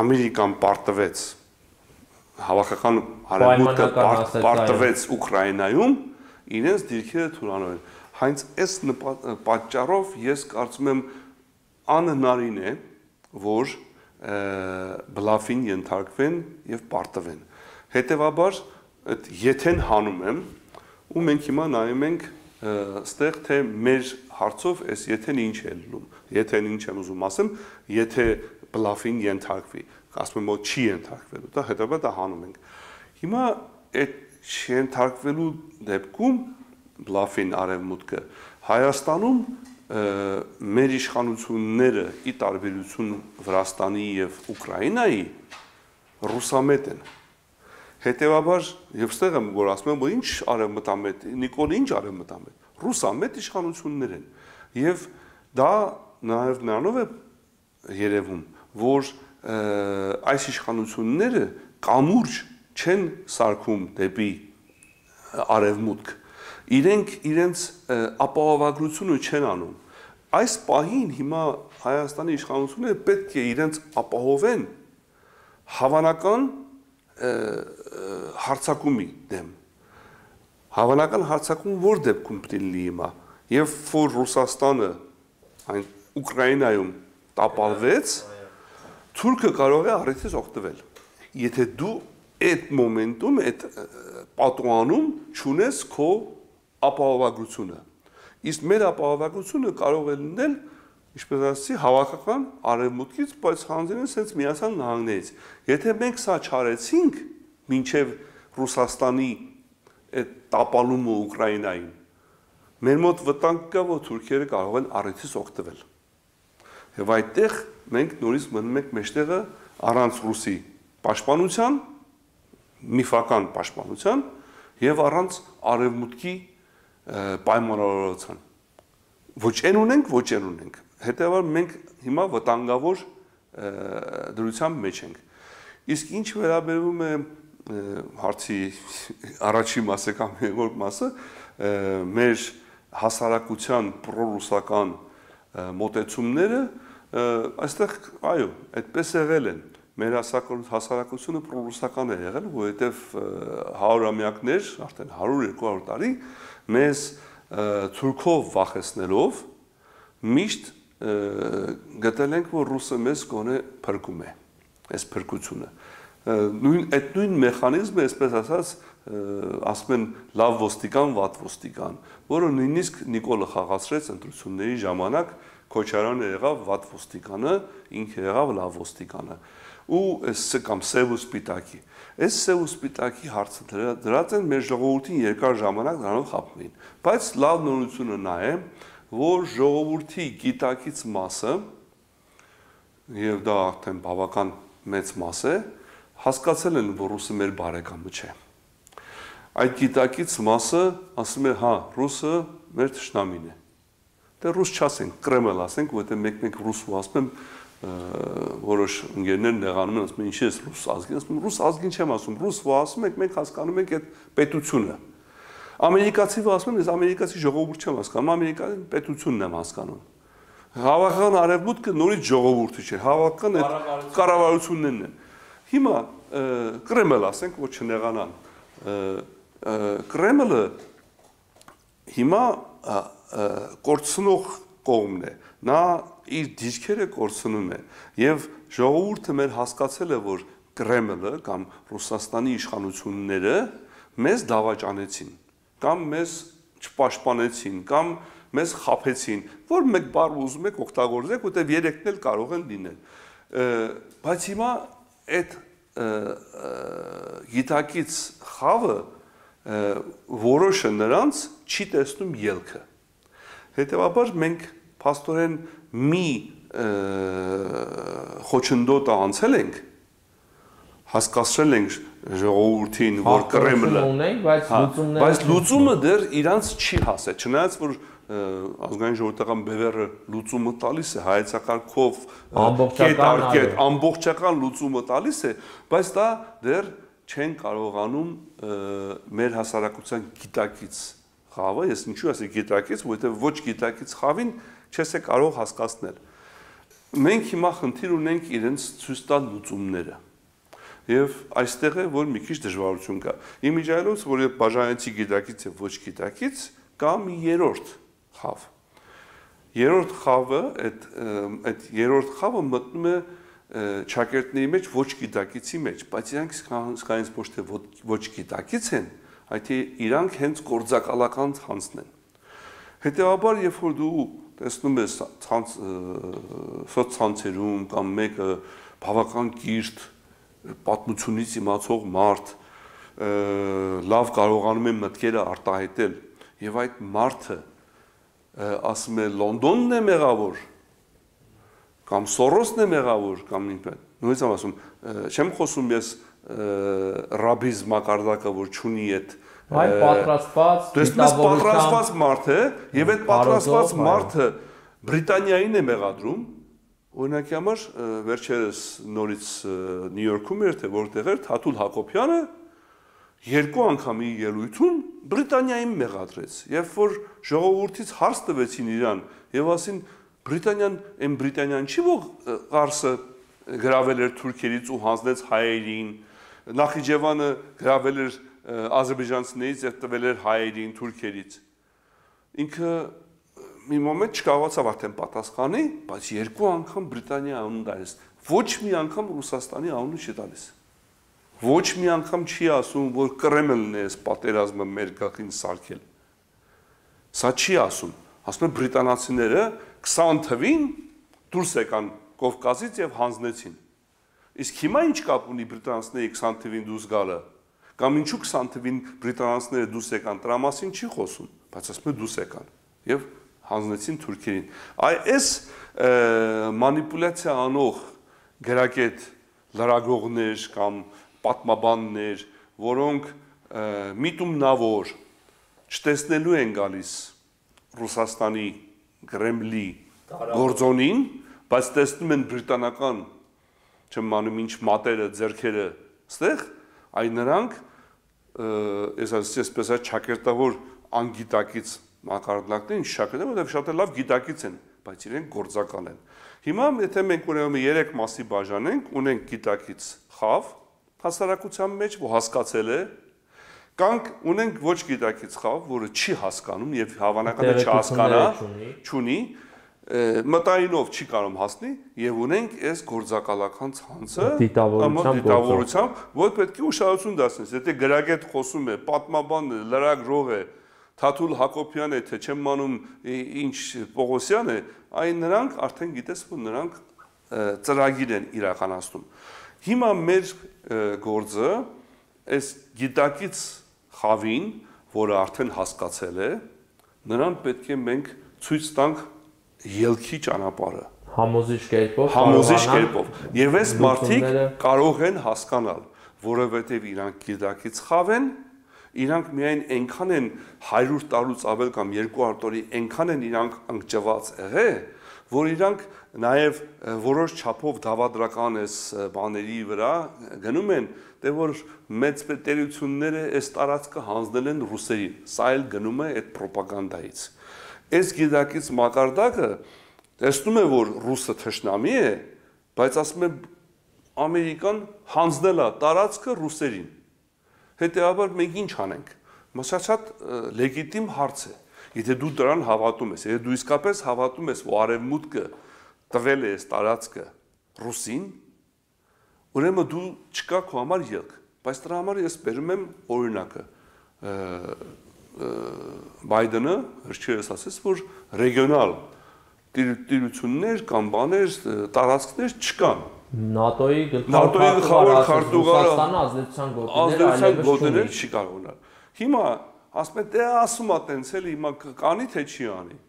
Ամերիկան պարտվեց, հավաքական արևմուտքը պարտվեց Ուկրաինայում, իրենց դիրքերը թուլանում են։ Հենց այս պատճառով ես կարծում եմ անհնարին է, որ բլաֆին ենթարկվեն եւ պարտվեն։ Հետևաբար այդ եթեն հանում եմ, ու մենք հիմա նայում ենք ստեղ թե մեր հարցով այս եթեն ինչ է լինում։ Եթեն ինչ եմ ուզում ասեմ, եթե բլաֆին ենթարկվի, ասում եմ որ չի ենթարկվելու, դա հետաբար դա հանում ենք։ Հիմա այդ չենթարկվելու դեպքում բլաֆին արևմուտքը Հայաստանում մեր իշխանությունները ի տարբերություն Վրաստանի եւ Ուկրաինայի ռուսամետ են։ Հետևաբար եւ ստեղ եմ որ ասում եմ որ ինչ արևմտամետ, Նիկոլ ինչ արևմտամետ, ռուսամետ իշխանություններ են եւ դա նաեւ նրանով է երևում, որ այս իշխանությունները կամուրջ չեն սարքում դեպի արևմուտք։ Իրենք իրենց ապահովագրությունը չեն անում։ Այս պահին հիմա Հայաստանի իշխանությունները պետք է իրենց ապահովեն հավանական հարձակումի դեմ։ Հավանական հարձակում որ դեպքում պետք է լինի հիմա, եւ որ Ռուսաստանը այն Ուկրաինայում տապալվեց, Թուրքը կարող է առիթից օգտվել։ Եթե դու այդ մոմենտում, այդ պատուանում չունես քո ապահովագրությունը։ Իսկ մեր ապահովագրությունը կարող է լինել, ինչպես ասացի, հավաքական արևմուտքից, բայց հանձնեն sense Միացյալ Նահանգներից։ Եթե մենք սա չարեցինք, մինչև Ռուսաստանի այդ տապալումը Ուկրաինային, մեր մոտ վտանգ կա, որ թուրքերը կարող են առիթից օգտվել։ Եվ այդտեղ մենք նորից մնում ենք մեջտեղը առանց ռուսի պաշտպանության, միֆական պաշտպանության եւ առանց արևմուտքի պայմանավորվածության։ Ոչ են ունենք։ Հետեւաբար մենք հիմա վտանգավոր դրության մեջ ենք։ Իսկ ինչ վերաբերում է հարցի առաջի մասը կամ երկրորդ մասը, մեր հասարակության պրոռուսական մոտեցումները այստեղ այո, այդպես եղել են։ Մեր հասարակությունը պրոռուսական է եղել, որովհետև 100-ամյակներ, արդեն 100-200 տարի մեզ թուրքով վախեցնելով միշտ գտել ենք, որ ռուսը մեզ գոնե փրկում է, այս փրկությունը։ Այդ նույն մեխանիզմը, այսպես ասած, ասում են լավ ոստիկան, վատ ոստիկան, որը նույնիսկ Նիկոլը խաղացրեց ընտրությունների ժամանակ, Քոչարյանը եղավ վատ ոստիկանը, ինքը եղավ լավ ոստիկանը։ Ու այս կամ սև ու սպիտակի։ Այս սև ու սպիտակի հարցը դրած են մեր ժողովրդին երկար ժամանակ դրանով խաբում էին։ Բայց լավ նորությունը նա է, որ ժողովրդի գիտակից մասը, եւ դա արդեն բավական մեծ մաս է, հասկացել են, որ ռուսը մեր բարեկամը չէ։ Այդ գիտակից մասը ասում է, հա, ռուսը մեր թշնամին է։ Դե ռուս չասենք, Կրեմլ ասենք, որովհետև մեկ-մեկ ռուսու ասում եմ, որոշ ընկերներ նեղանում են, ասում են, ինչի՞ ես ռուս ազգին, ասում եմ, ռուս ազգին չեմ ասում, ռուս ասում եք, մենք հասկանում ենք այդ պետությունը։ Ամերիկացի ասում եմ, ես ամերիկացի ժողովուրդ չեմ հասկանում, ամերիկացի պետությունն եմ հասկանում։ Հավաքական արևմուտքը նորից ժողովուրդը չէ, հավաքական այդ կառավարություններն են։ Հիմա Կրեմլ ասենք, որ չնեղանան։ Կրեմլը հիմա կորցնող կողմն է, նա իր դիրքերը կորցնում է եւ ժողովուրդը մեր հասկացել է, որ Կրեմլը կամ Ռուսաստանի իշխանությունները մեզ դավաճանեցին կամ մեզ չպաշտպանեցին կամ մեզ խաբեցին, որ մեկ բառ ուզում եք օգտագործեք, որտեղ երեքն էլ կարող են լինել։ Բայց հիմա այդ գիտակից խավը որոշը նրանց չի տեսնում ելքը։ Հետևաբար մենք փաստորեն մի խոչընդոտը անցել ենք, հասկացրել ենք ժողովրդին, որ Կրեմլը, բայց լուծումը դեռ իրանց չի հասել, չնայած որ ազգային ժողովրդական բևեռը լուծումը տալիս է, հայեցակարգով ամբողջական լուծումը տալիս է, բայց դա դեռ չեն կարողանում մեր հասարակության գիտակից խավը, ես ինչու ասի գիտակից, որովհետև ոչ գիտակից խավին չես է կարող հասկացնել։ Մենք հիմա խնդիր ունենք իրենց ցույց տալ լուծումները։ Եվ այստեղ է, որ մի քիչ դժվարություն կա։ Իմիջիայլոց, որ բաժանեցի գիտակից եւ ոչ գիտակից, կա մի երրորդ խավ։ Երրորդ խավը, այդ երրորդ խավը մտնում է ճակերտների մեջ ոչ գիտակիցի մեջ, բայց իրանք սկայից ոչ թե ոչ գիտակից են, այդ իրանք հենց գործակալական ցանցն են։ Հետևաբար, երբ որ դու տեսնում ես սոցցանցերում կամ մեկը բավական կիրթ պատմությունից իմացող մարդ լավ կարողանում է մտքերը արտահայտել եւ այդ մարդը ասում է Լոնդոնն է մեղավոր կամ Սորոսն է մեղավոր կամ ինքն նույնիսկ եմ ասում չեմ խոսում ես ռաբիզ մակարդակը որ չունի այդ այլ պատրաստված մարդ է եւ այդ պատրաստված մարդը Բրիտանիային է մեղադրում Օրինակի համար վերջերս նորից Նյու Յորքում էր թե որտեղ էր Թաթուլ Հակոբյանը երկու անգամի ելույթում Բրիտանիային մեղադրեց, երբ որ ժողովրդից հարց տվեցին իրան եւ ասին Բրիտանիան չի որ Ղարսը գրավել էր թուրքերից ու հանձնեց հայերին, Նախիջևանը գրավել էր ադրբեջանցիներից եւ տվել էր հայերին թուրքերից։ Ինքը մի մոմենտ չկարողացավ արդեն պատասխանի, բայց երկու անգամ Բրիտանիայի անունը տալիս։ Ոչ մի անգամ Ռուսաստանի անունը չի տալիս։ Ոչ մի անգամ չի ասում, որ Կրեմլն է այս պատերազմը մեր գլխին սարքել։ Սա չի ասում։ Ասում են բրիտանացիները 20 թվին դուրս եկան Կովկասից եւ հանձնեցին։ Իսկ հիմա ինչ կապ ունի բրիտանացիների 20 թվին դուրս գալը։ Կամ ինչու 20 թվին բրիտանացիները դուրս եկան, դրա մասին չի խոսում, բայց ասում են դուրս եկան եւ հանձնեցին թուրքերին։ Այս մանիպուլյացիա անող գրագետ լրագրողներ կամ պատմաբաններ, որոնք միտումնավոր չտեսնելու են գալիս Ռուսաստանի Կրեմլի գործոնին, բայց տեսնում են բրիտանական չեմ անում ինչ մատերը, ձեռքերը ստեղ, այ նրանք այսպես չակերտավոր անգիտակից մակարդակներին շակերտել, որտեղ շատ լավ գիտակից են, բայց իրենք գործական են։ Հիմա եթե մենք ուրեմն 3 մասի բաժանենք, ունենք գիտակից խավ, հասարակության մեջ, որ հասկացել է, կանք ունենք ոչ գիտակից խավ, որը չի հասկանում եւ հավանական է չհասկանա, չունի, մտայինով չի կարող հասնի եւ ունենք այս գործակալական ցանցը դիտավորությամբ, որ պետք է ուշադրություն դարձնես։ Եթե գրագետ խոսում է, պատմաբան է, լրագրող է, Թաթուլ Հակոբյան է, թե չեմ անում ինչ Պողոսյան է, այն նրանք արդեն գիտես, որ նրանք ծրագիր են իրականացնում։ Հիմա մեր գործը այս գիտակից խավին, որը արդեն հասկացել է, նրան պետք է մենք ցույց տանք ելքի ճանապարհը համոզիչ կերպով եւ այս մարդիկ կարող են հասկանալ, որովհետեւ իրանք գիտակից խավ են, իրանք միայն այնքան են 100 տարուց ավել կամ 200 տարի այնքան են իրանք անկճված եղել, որ իրանք նաեւ որոշ չափով դավադրական այս բաների վրա գնում են, դե որ մեծ պետերությունները այս տարածքը հանձնել են ռուսերին, սա էլ գնում է այդ ռոպագանդայից։ Այս գիտակից մակարդակը տեսնում է, որ ռուսը թշնամի է, բայց ասում է Ամերիկան հանձնել է տարածքը ռուսերին։ Հետևաբար մենք ինչ անենք։ Շատ լեգիտիմ հարց է։ Եթե դու դրան հավատում ես, եթե դու իսկապես հավատում ես, որ Արևմուտքը տվել է այս տարածքը ռուսին, ուրեմն դու չկա քո համար ելք։ Բայց դրա համար ես բերում եմ օրինակը։ Բայդենը հրճերս ասեց, որ ռեգիոնալ տիրություններ կամ բաներ, տարածքներ չկան։ ՆԱՏՕ-ի գլխավոր քարտուղարը Ռուսաստանը ազդեցության գոտիներ չի կարող ունենալ։ Հիմա ասում են, դե ասում ա տենց էլի, հիմա կանի թե չի անի։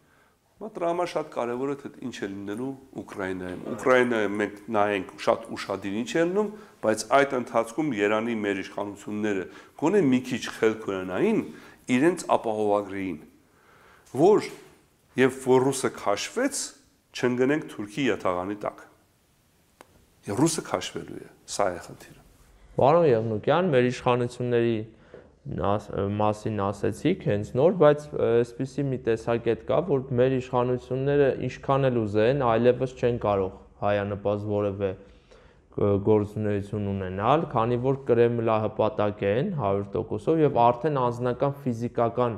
Հիմա դրա համար շատ կարևոր է թե ինչ է լինելու Ուկրաինայում։ Ուկրաինայում մենք նայենք շատ ուշադիր ինչ է լինում, բայց այդ ընթացքում Երանի մեր իշխանությունները գոնե մի քիչ խելք ունենային իրենց ապահովագրեին, որ եւ որ ռուսը քաշվեց, չընկնենք Թուրքի յաթաղանի տակ։ Եվ ռուսը քաշվելու է, սա է խնդիրը։ Պարոն Եղնուկյան, մեր իշխանությունների մասին ասեցիք հենց նոր, բայց այսպիսի մի տեսակետ կա, որ մեր իշխանությունները ինչքան էլ ուզեն, այլևս չեն կարող հայանպաստ որևէ գործունեություն ունենալ, քանի որ կրեմլահպատակ են 100%-ով եւ արդեն անձնական ֆիզիկական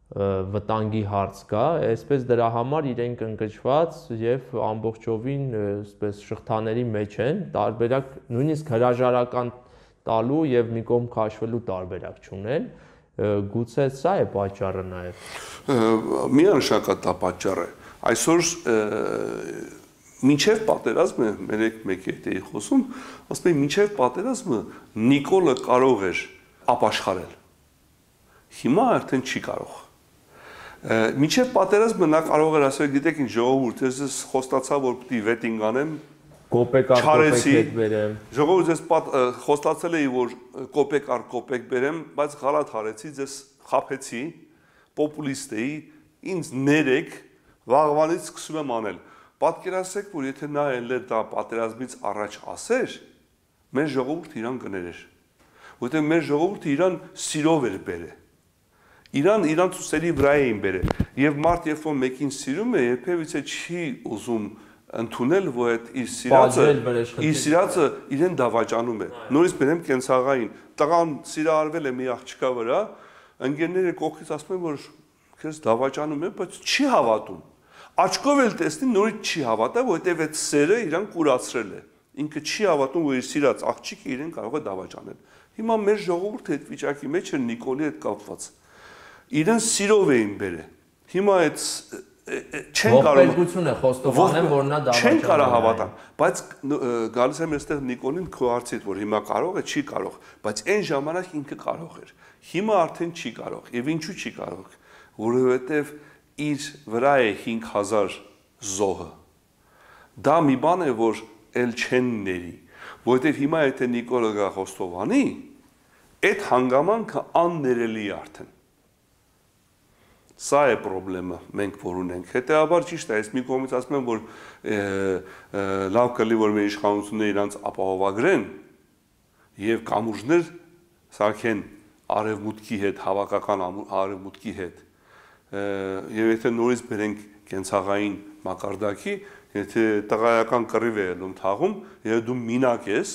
վտանգի հարց կա, այսպես դրա համար իրենք ընկճված եւ ամբողջովին այսպես շղթաների մեջ են, տարբերակ նույնիսկ հրաժարական տալու եւ մի կողմ քաշվելու տարբերակ չունեն, գուցե սա է պատճառը նաեւ։ Միանշանակ դա պատճառ է։ Այսօր մինչև պատերազմը մեկ էի խոսում, ասում եմ մինչև պատերազմը Նիկոլը կարող էր ապաշխարել։ Հիմա արդեն չի կարող։ Մինչև պատերազմը նա կարող էր ասել, գիտեք ինչ ժողովուրդ, ես խոստացա, որ պիտի վետինգ անեմ, կոպեկ բերեմ։ Ժողովուրդ ես խոստացել էի, որ կոպեկ բերեմ, բայց գալատ հարեցի, ես խափեցի, պոպուլիստ էի, ինձ ներեք, վաղվանից սկսում եմ անել։ Պատկերացրեք, որ եթե նա ելներ դա պատերազմից առաջ ասեր, մեր ժողովուրդը իրան կներեր։ Որտեղ մեր ժողովուրդը իրան սիրով էր բերել։ Իրան ցուսերի վրա էին բերել։ Եվ մարդ երբ որ մեկին սիրում է, երբևիցե չի ուզում ընդունել, որ այդ իր սիրածը իրեն դավաճանում է։ Նորից բերեմ կենցաղային։ Տղան սիրահարվել է մի աղջկա վրա, ընկերները կողքից ասում են, որ քեզ դավաճանում է, բայց չի հավատում։ Աչքով էլ տեսնի, նորից չի հավատա, որովհետև այդ սերը իրան կուրացրել է։ Ինքը չի հավատում, որ իր սիրած աղջիկը իրեն կարող է դավաճանել։ Հիմա մեր ժողովուրդը այդ վիճակի մեջ էր Նիկոլի հետ կապված։ Իրեն սիրով էին բերել։ Հիմա այդ չեն կարող ողբերգություն է խոստովանել, որ նա դավաճանում է։ Չեն կարող հավատալ, բայց գալիս եմ այստեղ Նիկոլին քո հարցից, որ հիմա կարող է, չի կարող, բայց այն ժամանակ ինքը կարող էր։ Հիմա արդեն չի կարող։ Եվ ինչու չի կարող, որովհետև իր վրա է 5000 զոհը։ Դա մի բան է, որ էլ չեն ների, որովհետև հիմա եթե Նիկոլը գա խոստովանի, այդ հանգամանքը աններելի է արդեն։ Սա է խնդրեմը, մենք որ ունենք։ Հետևաբար ճիշտ է, ես մի կողմից ասում եմ, որ լավ կլինի, որ մեր իշխանությունները իրանց ապահովագրեն եւ կամուրջներ սարքեն արևմուտքի հետ, հավաքական արևմուտքի հետ։ Եվ եթե նորից բերենք կենցաղային մակարդակի, եթե տղայական կռիվ է ելնում թաղում, եւ դու մինակ ես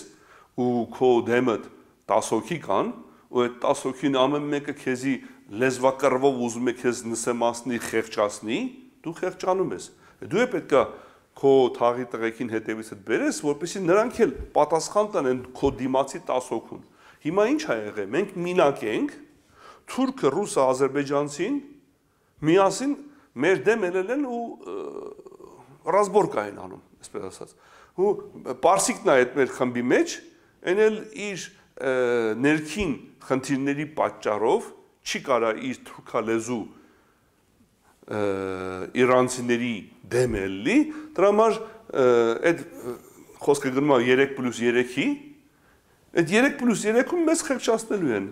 ու քո դեմդ 10 հոգի կան, ու այդ 10 հոգին ամեն մեկը քեզի լեզվակռվով ուզում է քեզ նսեմացնի, խեղճացնի, դու խեղճանում ես։ Դու է պետքա քո թաղի տղեկին հետևիցդ բերես, որպեսզի նրանք էլ պատասխան տանեն քո դիմացի 10 հոգուն։ Հիմա ինչ ա եղել։ Մենք մինակ ենք, թուրքը, ռուսը, ադրբեջանցին միասին մեր դեմ ելել են ու ռազմորկա են անում, այսպես ասած։ Ու պարսիկն է այդ մեր խմբի մեջ, այն էլ իր ներքին խնդիրների պատճառով չի կարա իր թուրքալեզու իրանցիների դեմ ելնի, դրա համար այդ խոսքը գնում է 3+3-ի, այդ 3+3-ում մեզ խեղճացնելու են։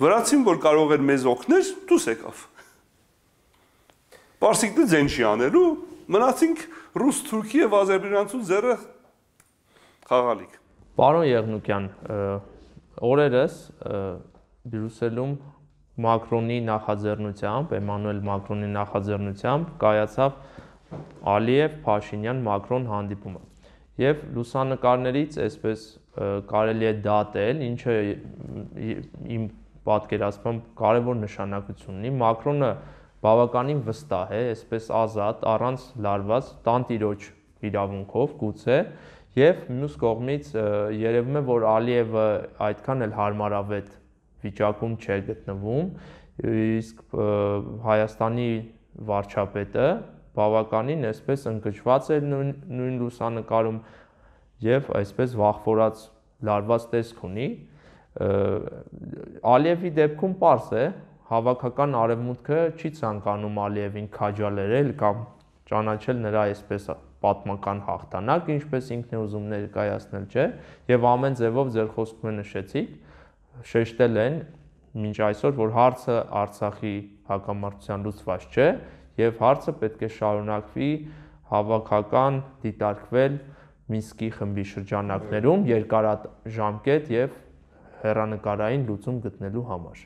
Վրացին, որ կարող էր մեզ օգնել, դուս եկավ։ Պարսիկը ձեն չի անելու, մնացինք ռուս, թուրքի եւ ադրբեջանցու ձեռը խաղալիք։ Պարոն Եղնուկյան, օրերս Բրյուսելում Մակրոնի նախաձեռնությամբ, Էմանուել Մակրոնի նախաձեռնությամբ կայացավ Ալիև-Փաշինյան-Մակրոն հանդիպումը։ Եվ լուսանկարներից այսպես կարելի է դատել, ինչը իմ պատկերացմամբ կարևոր նշանակություն ունի։ Մակրոնը բավականին վստահ է, այսպես ազատ, առանց լարված, տանտիրոջ իրավունքով գուցե, եւ մյուս կողմից երևում է, որ Ալիևը այդքան էլ հարմարավետ վիճակում չէ գտնվում, իսկ Հայաստանի վարչապետը բավականին այսպես ընկճված է նույն լուսանկարում եւ այսպես վախվորած լարված տեսք ունի։ Ալիևի դեպքում պարզ է, հավաքական արևմուտքը չի ցանկանում Ալիևին քաջալերել կամ ճանաչել նրա այսպես պատմական հաղթանակ, ինչպես ինքն է ուզում ներկայացնել, չէ, եւ ամեն ձևով ձեր խոսքում նշեցիք, շեշտել են մինչ այսօր, որ հարցը Արցախի հակամարտության լուծված չէ եւ հարցը պետք է շարունակվի հավաքական դիտարկվել Մինսկի խմբի շրջանակներում երկարաժամկետ եւ հեռանկարային լուծում գտնելու համար։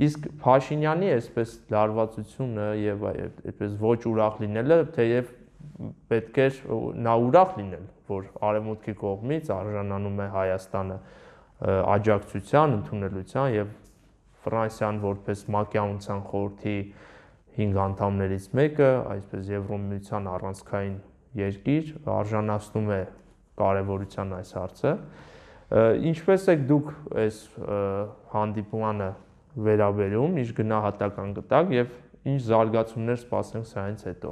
Իսկ Փաշինյանի այսպես լարվածությունը եւ այդպես ոչ ուրախ լինելը, թեև պետք է նա ուրախ լինել, որ արևմուտքի կողմից արժանանում է Հայաստանը աջակցության, ընդունելության եւ Ֆրանսիան որպես Մակեդոնիան խորհրդի 5 անդամներից մեկը, այսպես Եվրոմիության առանցքային երկիր, արժանացնում է կարևորության այս հարցը։ Ինչպես եք դուք այս հանդիպմանը վերաբերում, ինչ գնահատական գտակ եւ ինչ զարգացումներ սպասենք սրանից հետո։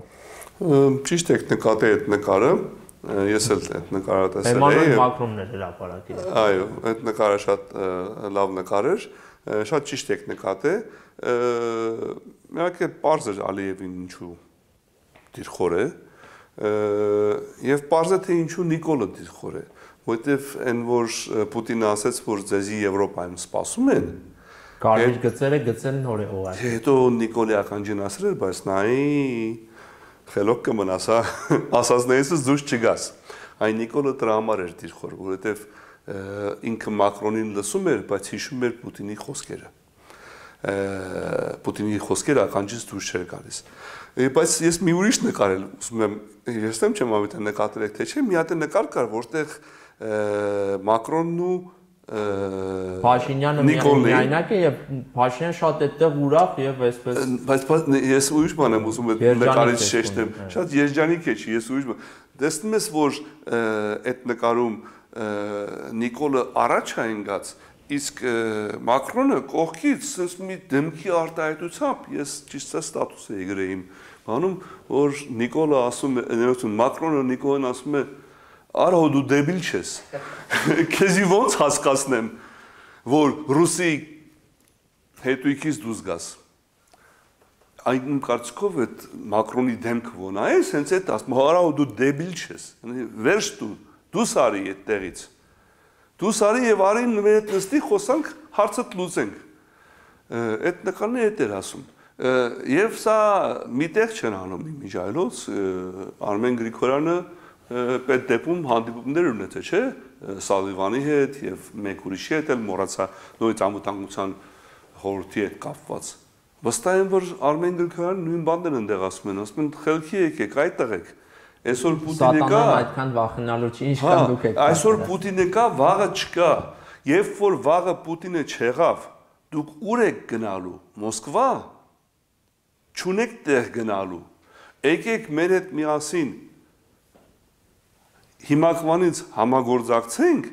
Ճիշտ եք նկատել այդ նկարը, ես էլ այդ նկարը տեսել եմ։ Էմանուել Մակրոնն էր հրապարակել։ Այո, այդ նկարը շատ լավ նկար էր, շատ ճիշտ եք նկատել։ Իհարկե պարզ էր Ալիևին ինչու դիրքոր է, եւ պարզ է թե ինչու Նիկոլը դիրքոր է, որովհետեւ այն որ Պուտինը ասաց, որ ձեզի Եվրոպայում սպասում են, կարմիր գծերը գծել նոր է ուղղակի։ Հետո Նիկոլի ականջին ասել էր, բայց նայի խելոք կմնաս, հա, ասածներից դուրս չգաս։ Այն Նիկոլը դրա համար էր դիրքոր, որովհետև ինքը Մակրոնին լսում էր, բայց հիշում էր Պուտինի խոսքերը։ Պուտինի խոսքերը ականջից դուրս չէր գալիս։ Բայց ես մի ուրիշ նկարել, ուզում եմ, ես չեմ ավետը նկատել եք թե չէ, մի հատ նկար կար, որտեղ Մակրոնն ու Փաշինյանը միայնակ է եւ Փաշինյանը շատ այդտեղ ուրախ եւ այսպես բայց ես ուրիշ բան եմ ուզում նկարից շեշտեմ շատ երջանիկ է չի ես ուրիշ բան տեսնում ես որ այդ նկարում Նիկոլը առաջ է ընկած իսկ Մակրոնը կողքից sense մի դեմքի արտահայտությամբ ես ճիշտ ստատուս էի գրել իմ բանում որ Նիկոլը ասում է Մակրոնը Նիկոլին ասում է Արա դու դեբիլ չես։ Քեզի ոնց հասկացնեմ, որ ռուսի հետույքից դուրս գաս։ Այն կարծիքով այդ Մակրոնի դեմքը ոնա է, հենց այդ ասում, արա դու դեբիլ չես։ Վերջ դու սարի այդ տեղից։ Դու սարի եւ արին մեր հետ նստի խոսանք, հարցը լուծենք։ Այդ նկարն է այդ էր ասում։ Եվ սա միտեղ չեն անում իմիջայլոց Արմեն Գրիգորյանը պետ դեպում հանդիպումներ ունեցել, չէ, Սալիվանի հետ եւ մեկ ուրիշի հետ էլ մոռացա նույն անվտանգության խորհրդի հետ կապված։ Վստահ եմ, որ Արմեն Գրիգորյանը նույն բանն ընդեղ ասում են, խելքի եկեք, այդտեղ եք։ Այսօր Պուտինը կա, այդքան վախենալու չի, ինչքան դուք եք։ Այսօր Պուտինը կա, վաղը չկա։ Երբ որ վաղը Պուտինը չեղավ, դուք ուր եք գնալու։ Մոսկվա։ Չունեք տեղ գնալու։ Եկեք մեր հետ միասին հիմակվանից համագործակցենք,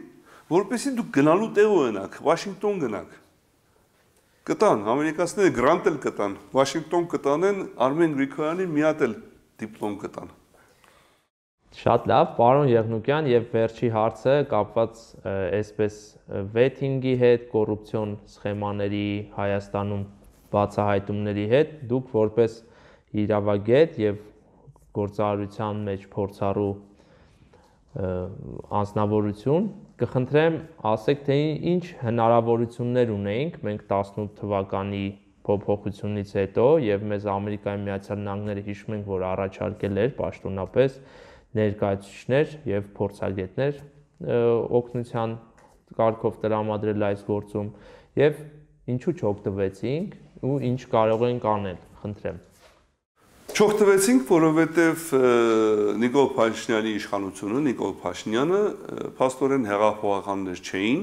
որպեսզի դուք գնալու տեղ ունենաք, Վաշինգտոն գնաք։ Կտան, ամերիկացիները գրանտ էլ կտան, Վաշինգտոն կտանեն, Արմեն Գրիգորյանի մի հատ էլ դիպլոմ կտան։ Շատ լավ, պարոն Եղնուկյան, եւ վերջի հարցը կապված այսպես վեթինգի հետ, կոռուպցիոն սխեմաների Հայաստանում բացահայտումների հետ, դուք որպես իրավագետ եւ գործարարության մեջ փորձառու անձնավորություն կխնդրեմ ասեք թե ինչ հնարավորություններ ունեինք մենք 18 թվականի փոփոխությունից հետո եւ մեզ Ամերիկայի Միացյալ Նահանգները հիշում ենք որ առաջարկել էր պաշտոնապես ներկայացուցիչներ եւ փորձագետներ օգնության կարգով տրամադրել այս գործում եւ ինչու չօգտվեցինք ու ինչ կարող ենք անել խնդրեմ Չօգտվեցինք, որովհետև Նիկոլ Փաշինյանի իշխանությունը, Նիկոլ Փաշինյանը փաստորեն հեղափոխականներ չէին,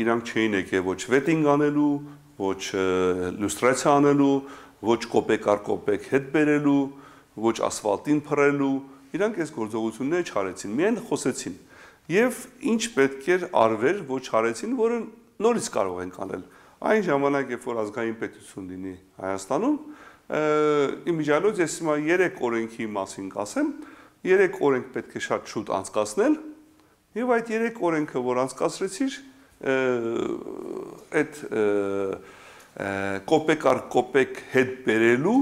իրանք չէին եկել ոչ վետինգ անելու, ոչ լյուստրացիա անելու, ոչ կոպեկ առ կոպեկ հետ բերելու, ոչ ասֆալտին փռելու, իրանք այս գործողությունները չարեցին, միայն խոսեցին։ Եվ ինչ պետք էր արվեր, ոչ արեցին, որը նորից կարող ենք անել։ Այն ժամանակ, երբ որ ազգային պետություն լինի Հայաստանում, իմիջիալոց ես հիմա 3 օրենքի մասին կասեմ, 3 օրենք պետք է շատ շուտ անցկացնել, եւ այդ 3 օրենքը, որ անցկացրեցիր, այդ կոպեկ առ կոպեկ հետ բերելու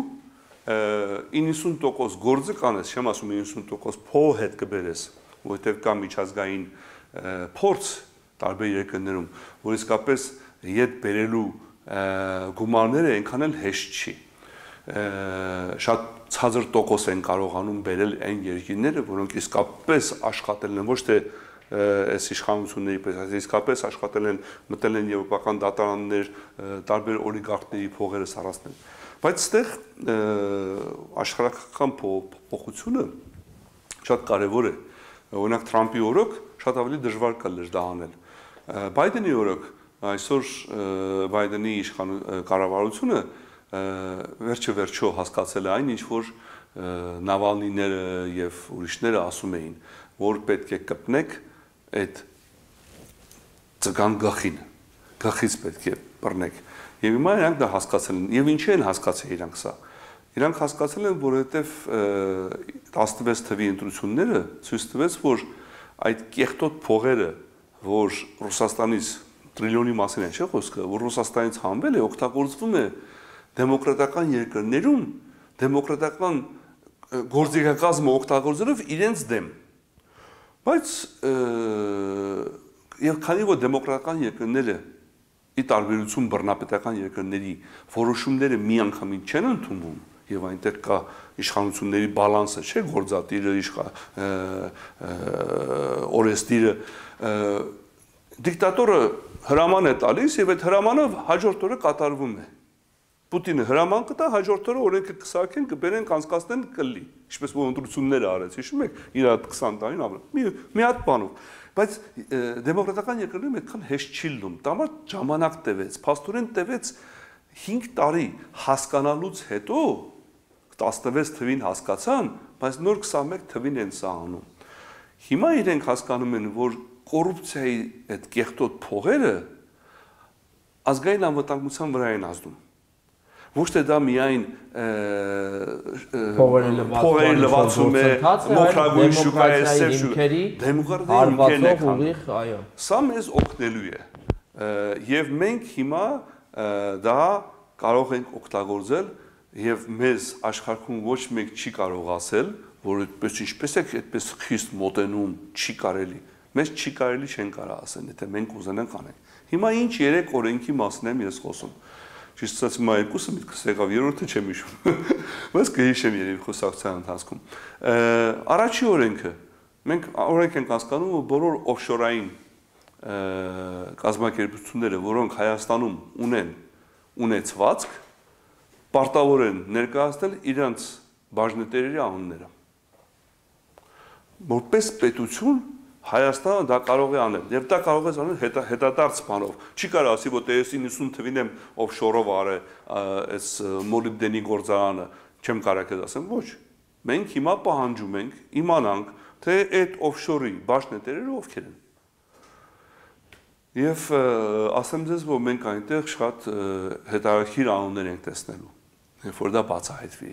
90% գործը կանես, չեմ ասում 90% փող հետ կբերես, որովհետեւ կա միջազգային փորձ տարբեր երկրներում, որ իսկապես հետ բերելու գումարները այնքան էլ հեշտ չի։ Շատ ցածր տոկոս են կարողանում բերել այն երկրները, որոնք իսկապես աշխատել են ոչ թե այս իշխանությունների պես, այլ իսկապես աշխատել են, մտել են եվրոպական դատարաններ, տարբեր օլիգարխների փողերը սարացնել։ Բայց այստեղ աշխարհական փոփոխությունը շատ կարևոր է։ Օրինակ Թրամփի օրոք շատ ավելի դժվար կլներ դա անել։ Բայդենի օրոք այսօր Բայդենի կառավարությունը վերջը վերջո հասկացել է այն, ինչ որ Նավալնիները եւ ուրիշները ասում էին, որ պետք է կպնեք այդ ծգան գլխին, գլխից պետք է բռնեք։ Եվ հիմա իրանք դա հասկացել են։ Եվ ինչի են հասկացել իրանք սա։ Իրանք հասկացել են, որովհետեւ 16 թվի ընտրությունները ցույց տվեց, որ այդ կեղտոտ փողերը, որ Ռուսաստանից տրիլիոնի մասին է, չէ՞ խոսքը, որ Ռուսաստանից հանվել է, օգտագործվում է դեմոկրատական երկրներում դեմոկրատական գործիքակազմը օգտագործելով իրենց դեմ։ Բայց եւ քանի որ դեմոկրատական երկրները ի տարբերություն բռնապետական երկրների որոշումները միանգամից չեն ընդունվում եւ այնտեղ կա իշխանությունների բալանսը, չէ, գործադիրը, օրենսդիրը, դիկտատորը հրաման է տալիս եւ այդ հրամանը հաջորդ օրը կատարվում է։ Պուտինը հրաման կտա, հաջորդ օրը օրենքը կսարքեն, կբերեն, կանցկացնեն, կլի։ Ինչպես որ ընտրությունները արեց, հիշում եք, իր 20 տարին ապրել։ Մի հատ բանով։ Բայց դեմոկրատական երկրներում այդքան հեշտ չի լինում։ Դա ժամանակ տևեց, փաստորեն տևեց 5 տարի հասկանալուց հետո 16 թվին հասկացան, բայց նոր 21 թվին են սա անում։ Հիմա իրենք հասկանում են, որ կոռուպցիայի այդ կեղտոտ փողերը ազգային անվտանգության վրա են ազդում։ Ոչ թե դա միայն փողերի լվացում է, մոխրագույն շուկա է, սև շուկա, դեմոկրատիայի հիմքերն է քանդում։ Սա մեզ օգնելու է։ Եվ մենք հիմա դա կարող ենք օգտագործել եւ մեզ աշխարհում ոչ մեկ չի կարող ասել, որ այդպես ինչպես է այդպես խիստ մոտենում չի կարելի։ Մեզ չի կարելի չեն կարող ասել, եթե մենք ուզենանք անենք։ Հիմա ինչ 3 օրենքի մասին եմ ես խոսում։ Ճիշտ ասած հիմա երկուսը միտքս եկավ, երրորդը չեմ հիշում։ Բայց կհիշեմ երևի խոսակցության ընթացքում։ Առաջի օրենքը մենք օրենք ենք հասկանում, որ բոլոր օֆշորային կազմակերպությունները, որոնք Հայաստանում ունեն ունեցվածք, պարտավոր են ներկայացնել իրենց բաժնետերերի անունները։ Որպես պետություն Հայաստանը դա կարող է անել, եւ դա կարող է անել հետադարձ բանով։ Չի կարող ասի, որ դες 90 թվին եմ օֆշորով արել այս մոլիբդենի գործարանը, չեմ կարող ասեմ, ոչ։ Մենք հիմա պահանջում ենք իմանանք, թե այդ օֆշորի բաժնետերերը ովքեր են։ Եվ ասեմ ձեզ, որ մենք այնտեղ շատ հետաքրքիր անուններ ենք տեսնելու, երբ որ դա բացահայտվի։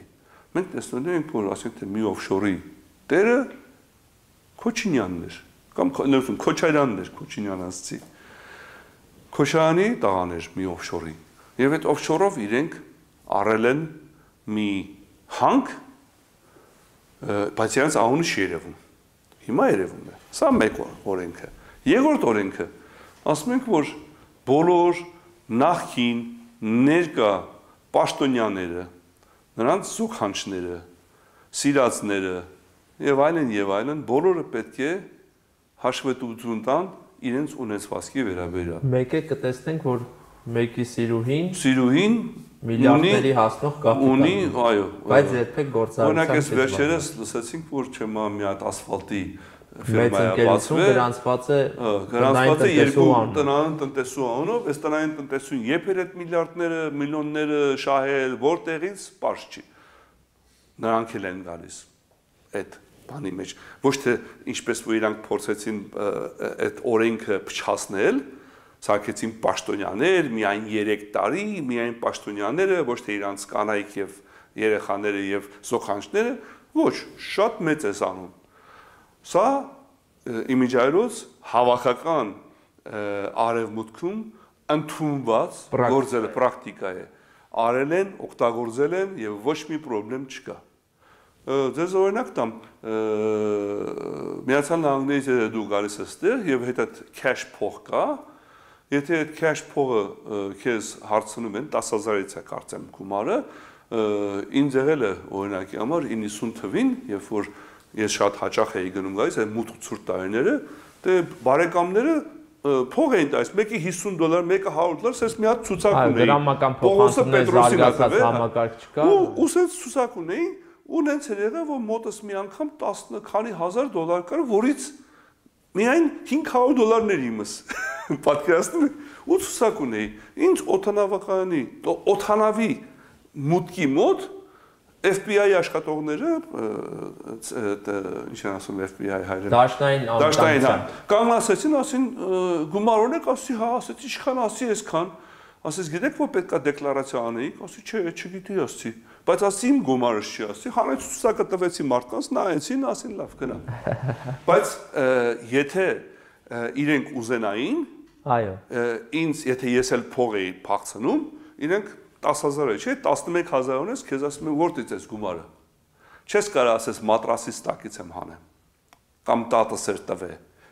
Մենք տեսնելու ենք, որ ասենք թե մի օֆշորի տերը Քոչինյանն էր, կամ Քոչարյանն էր, Քոչինյան ասցի։ Քոչարյանի տղան էր մի օֆշորի։ Եվ այդ օֆշորով իրենք առել են մի հանք, բայց իրենց անունը չի երևում։ Հիմա երևում է։ Սա մեկ օրենքը։ Երկրորդ օրենքը ասում ենք, որ բոլոր նախկին ներկա պաշտոնյաները, նրանց զուգանչները, սիրածները եւ այլն, բոլորը պետք է հաշվետվություն տան իրենց ունեցվածքի վերաբերյալ։ Մեկը կտեսնենք, որ մեկի սիրուհին միլիարդների հասնող կապիտալ ունի, այո, բայց երբեք գործարարության օրինակ այս վերջերս լսեցինք, որ չեմա մի հատ ասֆալտի ֆիրմա բացվել, գրանցված է երկու տնային տնտեսու անունով, այս տնային տնտեսուն երբ էր այդ միլիարդները, միլիոնները շահել, որտեղից պարզ չի։ Նրանք էլ են գալիս այդ բանի մեջ, ոչ թե ինչպես որ իրանք փորձեցին այդ օրենքը փչացնել, սարքեցին պաշտոնյաներ, միայն 3 տարի, միայն պաշտոնյաները, ոչ թե իրանք կանայք եւ երեխաները եւ զոքանչները, ոչ, շատ մեծ է անում։ Սա իմիջայլոց հավաքական արևմուտքում ընդունված գործել պրակտիկա է։ Արել են, օգտագործել են եւ ոչ մի խնդրեմ չկա։ Ձեզ օրինակ տամ, Միացյալ Նահանգներից դու գալիս ես այդտեղ եւ հետ այդ cash փող կա, եթե այդ cash փողը քեզ հարցնում են 10000-ից է կարծեմ գումարը, ինձ եղել է օրինակի համար 90 թվին, երբ որ ես շատ հաճախ էի գնում գալիս, այդ մութ ցուրտ տարիները, դե բարեկամները փող էին տալիս, մեկի $50, մեկը $100, ասես մի հատ ցուցակ ունեին։ Դրամական փոխանցումներ զարգացած համակարգ չկա։ Ու ասես ցուցակ ունեին, ու նենց էր եղել, որ մոտս մի անգամ 10 քանի հազար դոլար կար, որից միայն $500 իմս։ Պատկերացնում եք, ու ցուցակ ունեի։ Ինչ օթանավի մուտքի մոտ FBI աշխատողները, ինչ են ասում FBI հայրեն։ Դաշնային, հա։ Կանգնացեցին, ասին գումարոնեք, ասի, հա, ասեցի, ինչքան ասի այսքան, ասես գիտեք, որ պետքա դեկլարացիա անեիք, ասի, չէ, չգիտի, ասի, բայց ասի իմ գումարս չի, ասի, հանեց ցուցակը տվեցի մարդկանց, նայեցին, ասին լավ գնա։ Բայց եթե իրենք ուզենային, այո, ինձ եթե ես էլ փող էի փախցնում, իրենք 10000 է, չէ, 11000 ունես, քեզ ասում են որտից ես գումարը։ Չես կարող ասես մատրասից տակից եմ հանեմ։ Կամ տատս էր տվե,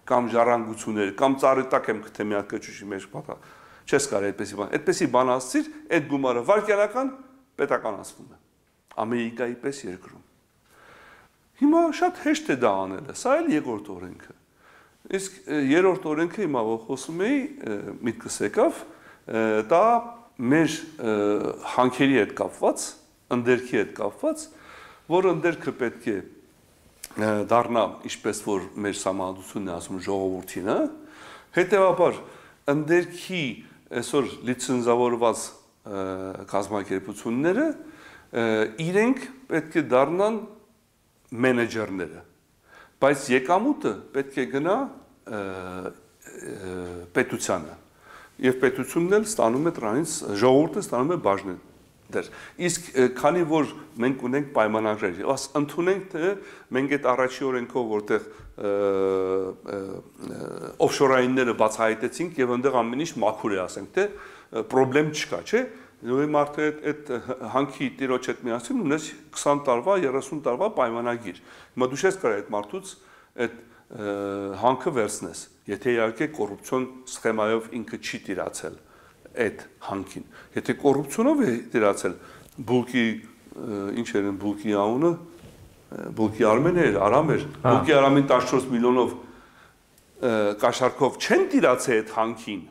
կամ ժառանգություններ, կամ ծառի տակ եմ գտե մի հատ կճուճի մեջ պատա։ Չես կարող այդպեսի բան։ Այդպեսի բան ասցիր, այդ գումարը վարկյանական պետականացվում է։ Ամերիկայի պես երկրում։ Հիմա շատ հեշտ է դա անելը, սա էլ երկրորդ օրենքը։ Իսկ երրորդ օրենքը հիմա որ խոսում էի, միտքս եկավ, դա մեր հանքերի հետ կապված, ընդերքի հետ կապված, որ ընդերքը պետք է դառնա, ինչպես որ մեր համանդությունն է ասում ժողովրդին, հետևաբար ընդերքի այսօր լիցենզավորված կազմակերպությունները իրենք պետք է դառնան մենեջերները, բայց եկամուտը պետք է գնա պետությանը, եւ պետությունն էլ ստանում է դրանից, ժողովուրդը ստանում է բաժներ։ Իսկ քանի որ մենք ունենք պայմանագրեր, ընդունենք թե մենք այդ առաջի օրենքով որտեղ օֆշորայինները բացահայտեցինք եւ այնտեղ ամեն ինչ մաքուր է, ասենք թե պրոբլեմ չկա, չէ՞։ Նույն մարդը այդ հանքի տիրոջ հետ միասին ունես 20 տարվա, 30 տարվա պայմանագիր։ Հիմա դու չես կարող այդ մարդուց այդ հանքը վերցնես, եթե իհարկե կոռուպցիոն սխեմայով ինքը չի տիրացել այդ հանքին։ Եթե կոռուպցիոնով է տիրացել, բուլկի ինչ էր բուլկի անունը, բուլկի Արմենը էր, Արամ էր, բուլկի Արամին 14 միլիոնով կաշառքով չեն տիրացել այդ հանքին։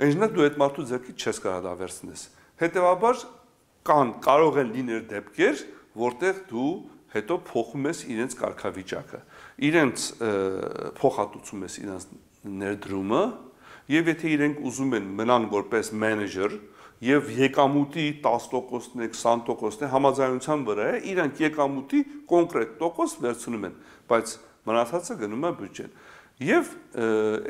Այնինչ դու այդ մարդու ձեռքից չես կարող դա վերցնես։ Հետևաբար կարող են լինել դեպքեր, որտեղ դու հետո փոխում ես իրենց կարգավիճակը, իրենց փոխհատուցում ես իրենց ներդրումը, եւ եթե իրենք ուզում են մնան որպես մենեջեր եւ եկամուտի 10%-ն է, 20%-ն է համաձայնության վրա է, իրենք եկամուտի կոնկրետ տոկոս վերցնում են, բայց մնացածը գնում է բյուջեն։ Եվ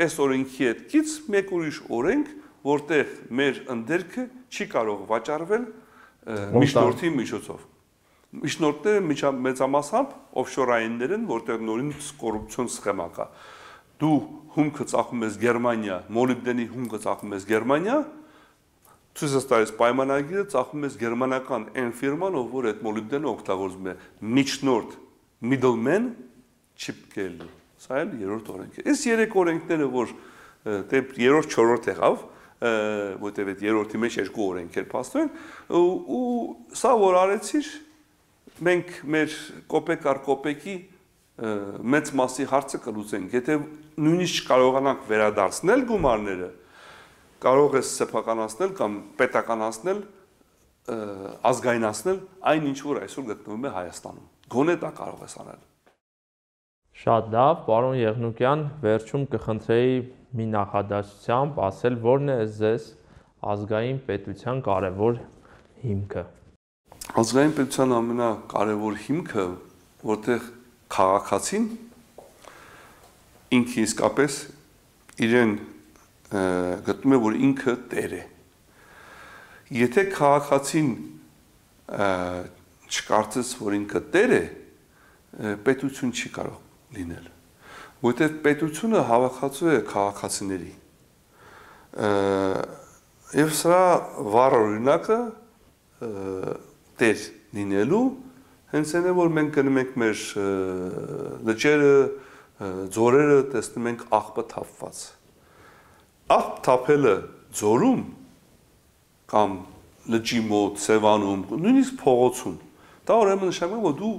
այս օրենքի հետ կից մեկ ուրիշ օրենք, որտեղ մեր ընդերքը չի կարող վաճառվել միջնորդի միջոցով։ Միջնորդները մեծամասամբ օֆշորայիններ են, որտեղ նորից կոռուպցիոն սխեմա կա։ Դու հումքը ծախում ես Գերմանիա, մոլիբդենի հումքը ծախում ես Գերմանիա, ցույց ես տալիս պայմանագիրը, ծախում ես գերմանական այն ֆիրման, ով որ այդ մոլիբդենը օգտագործում է, միջնորդ, middleman չիպկել։ Սա էլ երրորդ օրենք է։ Այս երեք օրենքները, որ երրորդ, չորրորդ եղավ, որտեղ այդ երրորդի մեջ երկու օրենք էր փաստորեն, ու սա որ արեցիր, մենք մեր կոպեկ առ կոպեկի մեծ մասի հարցը կլուծենք, եթե նույնիսկ կարողանանք վերադարձնել գումարները, կարող ես սեփականացնել կամ պետականացնել, ազգայնացնել այն ինչ որ այսօր գտնվում է Հայաստանում։ Գոնե դա կարող ես անել։ Շատ լավ, պարոն Եղնուկյան, վերջում կխնդրեի մի նախադասությամբ ասել, որն է ձեզ ազգային պետության կարևոր հիմքը։ Ազգային պետության ամենակարևոր հիմքը, որտեղ քաղաքացին ինքը իսկապես իրեն գտնում է, որ ինքը տեր է։ Եթե քաղաքացին չկարծես, որ ինքը տեր է, պետություն չի կարող լինել, որտեղ պետությունը հավաքածու է քաղաքացիների։ Եվ սրա վառ օրինակը տեր լինելու հենց այն է, որ մենք գնում ենք մեր լճերը, ձորերը, տեսնում ենք աղբը թափված։ Աղբ թափելը ձորում կամ լճի մոտ, Սևանում, նույնիսկ փողոցում, դա ուրեմն նշանակում է, որ դու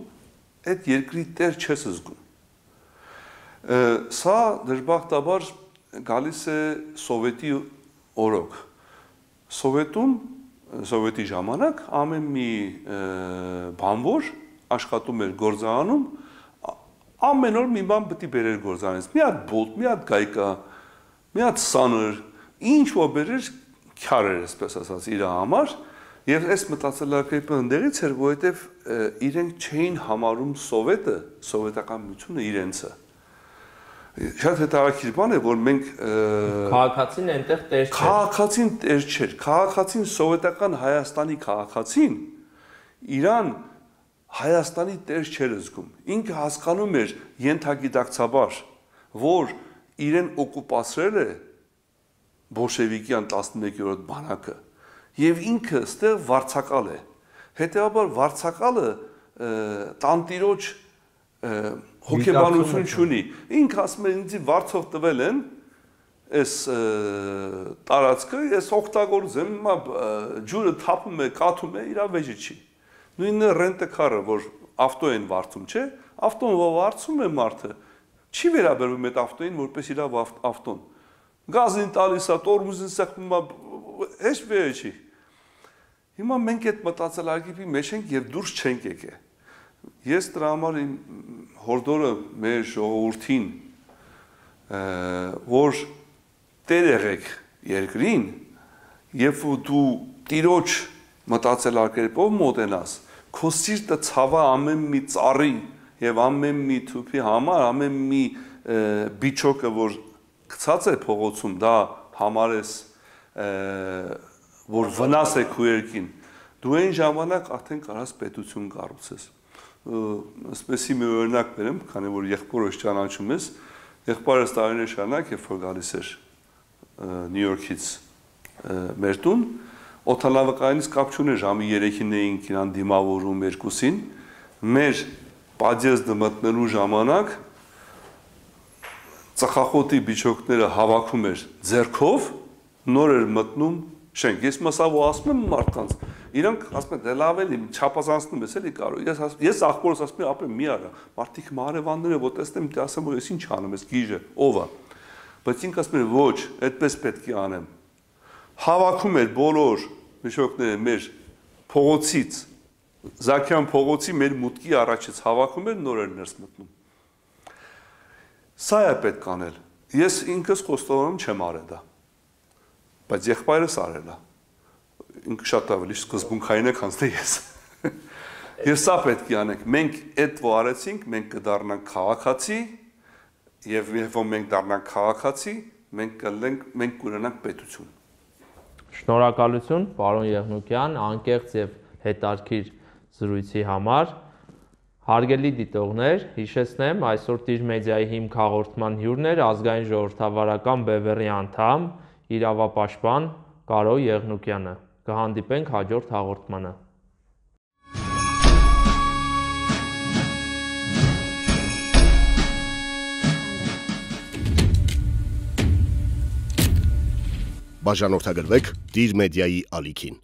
այդ երկրի տեր չես զգում։ Սա դժբախտաբար գալիս է Սովետի օրոք։ Սովետի ժամանակ ամեն մի բանվոր աշխատում էր գործարանում, ամեն օր մի բան պետք է բերեր գործարանից։ Մի հատ բոտ, մի հատ գայկա, մի հատ սանր, ինչ որ բերեր քյար էր, այսպես ասած, իր համար, եւ այս մտածելակերպը ընդերից էր, որովհետեւ իրենք չէին համարում սովետը, սովետական միությունը իրենցը։ Շատ հետաքրքիր բան է, որ մենք քաղաքացին այնտեղ տեր չէր։ Քաղաքացին տեր չէր։ Քաղաքացին սովետական Հայաստանի քաղաքացին իրան Հայաստանի տեր չէր զգում։ Ինքը հասկանում էր ենթագիտակցաբար, որ իրեն օկուպացրել է բոլշևիկյան 11-րդ բանակը եւ ինքը ստեղ վարձակալ է։ Հետեւաբար վարձակալը տանտիրոջ հոգեբանություն չունի։ Ինքը ասում է ինձ վարձով տվել են այս տարածքը, ես օգտագործեմ, ջուրը թափում է, կաթում է, իր վեճը չի։ Նույնը ռենտեկարը, որ ավտո են վարձում, չէ, ավտոն վարձում է մարդը, չի վերաբերվում այդ ավտոին, որպես իր ավտոն։ Գազին տալիս է, տորմուզին սեղմում է, հեչ վերը չի։ Հիմա մենք այդ մտածելակերպի մեջ ենք եւ դուրս չենք եկել։ Ես դրա համար իմ հորդորը մեր ժողովրդին, որ տեր եղեք երկրին, երբ դու տիրոջ մտածելակերպով մոտենաս, քո սիրտը ցավա ամեն մի ծառի եւ ամեն մի թուփի համար, ամեն մի բիչոկը, որ գցած է փողոցում, դա համարես որ վնաս է քո երկին, դու այն ժամանակ արդեն կարաս պետություն կառուցես։ Ասպեսի մի օրինակ բերեմ, քանի որ եղբորս ճանաչում ես, եղբայրս տարիներ շարունակ, երբ որ գալիս էր Նյու Յորքից մեր տուն, օդանավակայանից կապ չուներ, ժամի 3-ին էինք իրան դիմավորում 2-ին, մեր պատյեզդը մտնելու ժամանակ ծխախոտի բիչոկները հավաքում էր ձեռքով, նոր էր մտնում շենք։ Ես մասավ ու ասում եմ մարդկանց, իրանք ասում են, դե լավ էլի, չափազանցնում ես էլի կարող։ Ես աղբորս ասում եմ, ապե մի արա, մարդիկ մարևանները, որ տեսնեմ, դե ասեմ, որ ես ինչ անեմ, ես գիժը, ով է։ Բայց ինք ասում են, ոչ, այդպես պետք է անեմ։ Հավաքում էր բոլոր բիչոկները մեր փողոցից, Զաքյան փողոցի մեր մուտքի առաջից հավաքում էր, նոր էր ներս մտնում։ Սա է պետք անել։ Ես ինքս խոստովանում չեմ արել դա։ Բայց եղբայրս արել է։ Ինքը շատ ավելի սկզբունքային է, քան թե ես։ Եվ սա պետք է անենք։ Մենք այդ որ արեցինք, մենք կդառնանք քաղաքացի, եւ երբ որ մենք դառնանք քաղաքացի, մենք կունենանք պետություն։ Շնորհակալություն, պարոն Եղնուկյան, անկեղծ եւ հետարքիր զրույցի համար։ Հարգելի դիտողներ, հիշեցնեմ, այսօր Տիր մեդիայի հիմք հաղորդման հյուրն էր ազգային ժողովրդավարական բևեռի անդամ, իրավապաշտպան Կարո Եղնուկյանը։ Կհանդիպենք հաջորդ հաղորդմանը։ Բաժանորդագրվեք Տիր մեդիայի ալիքին։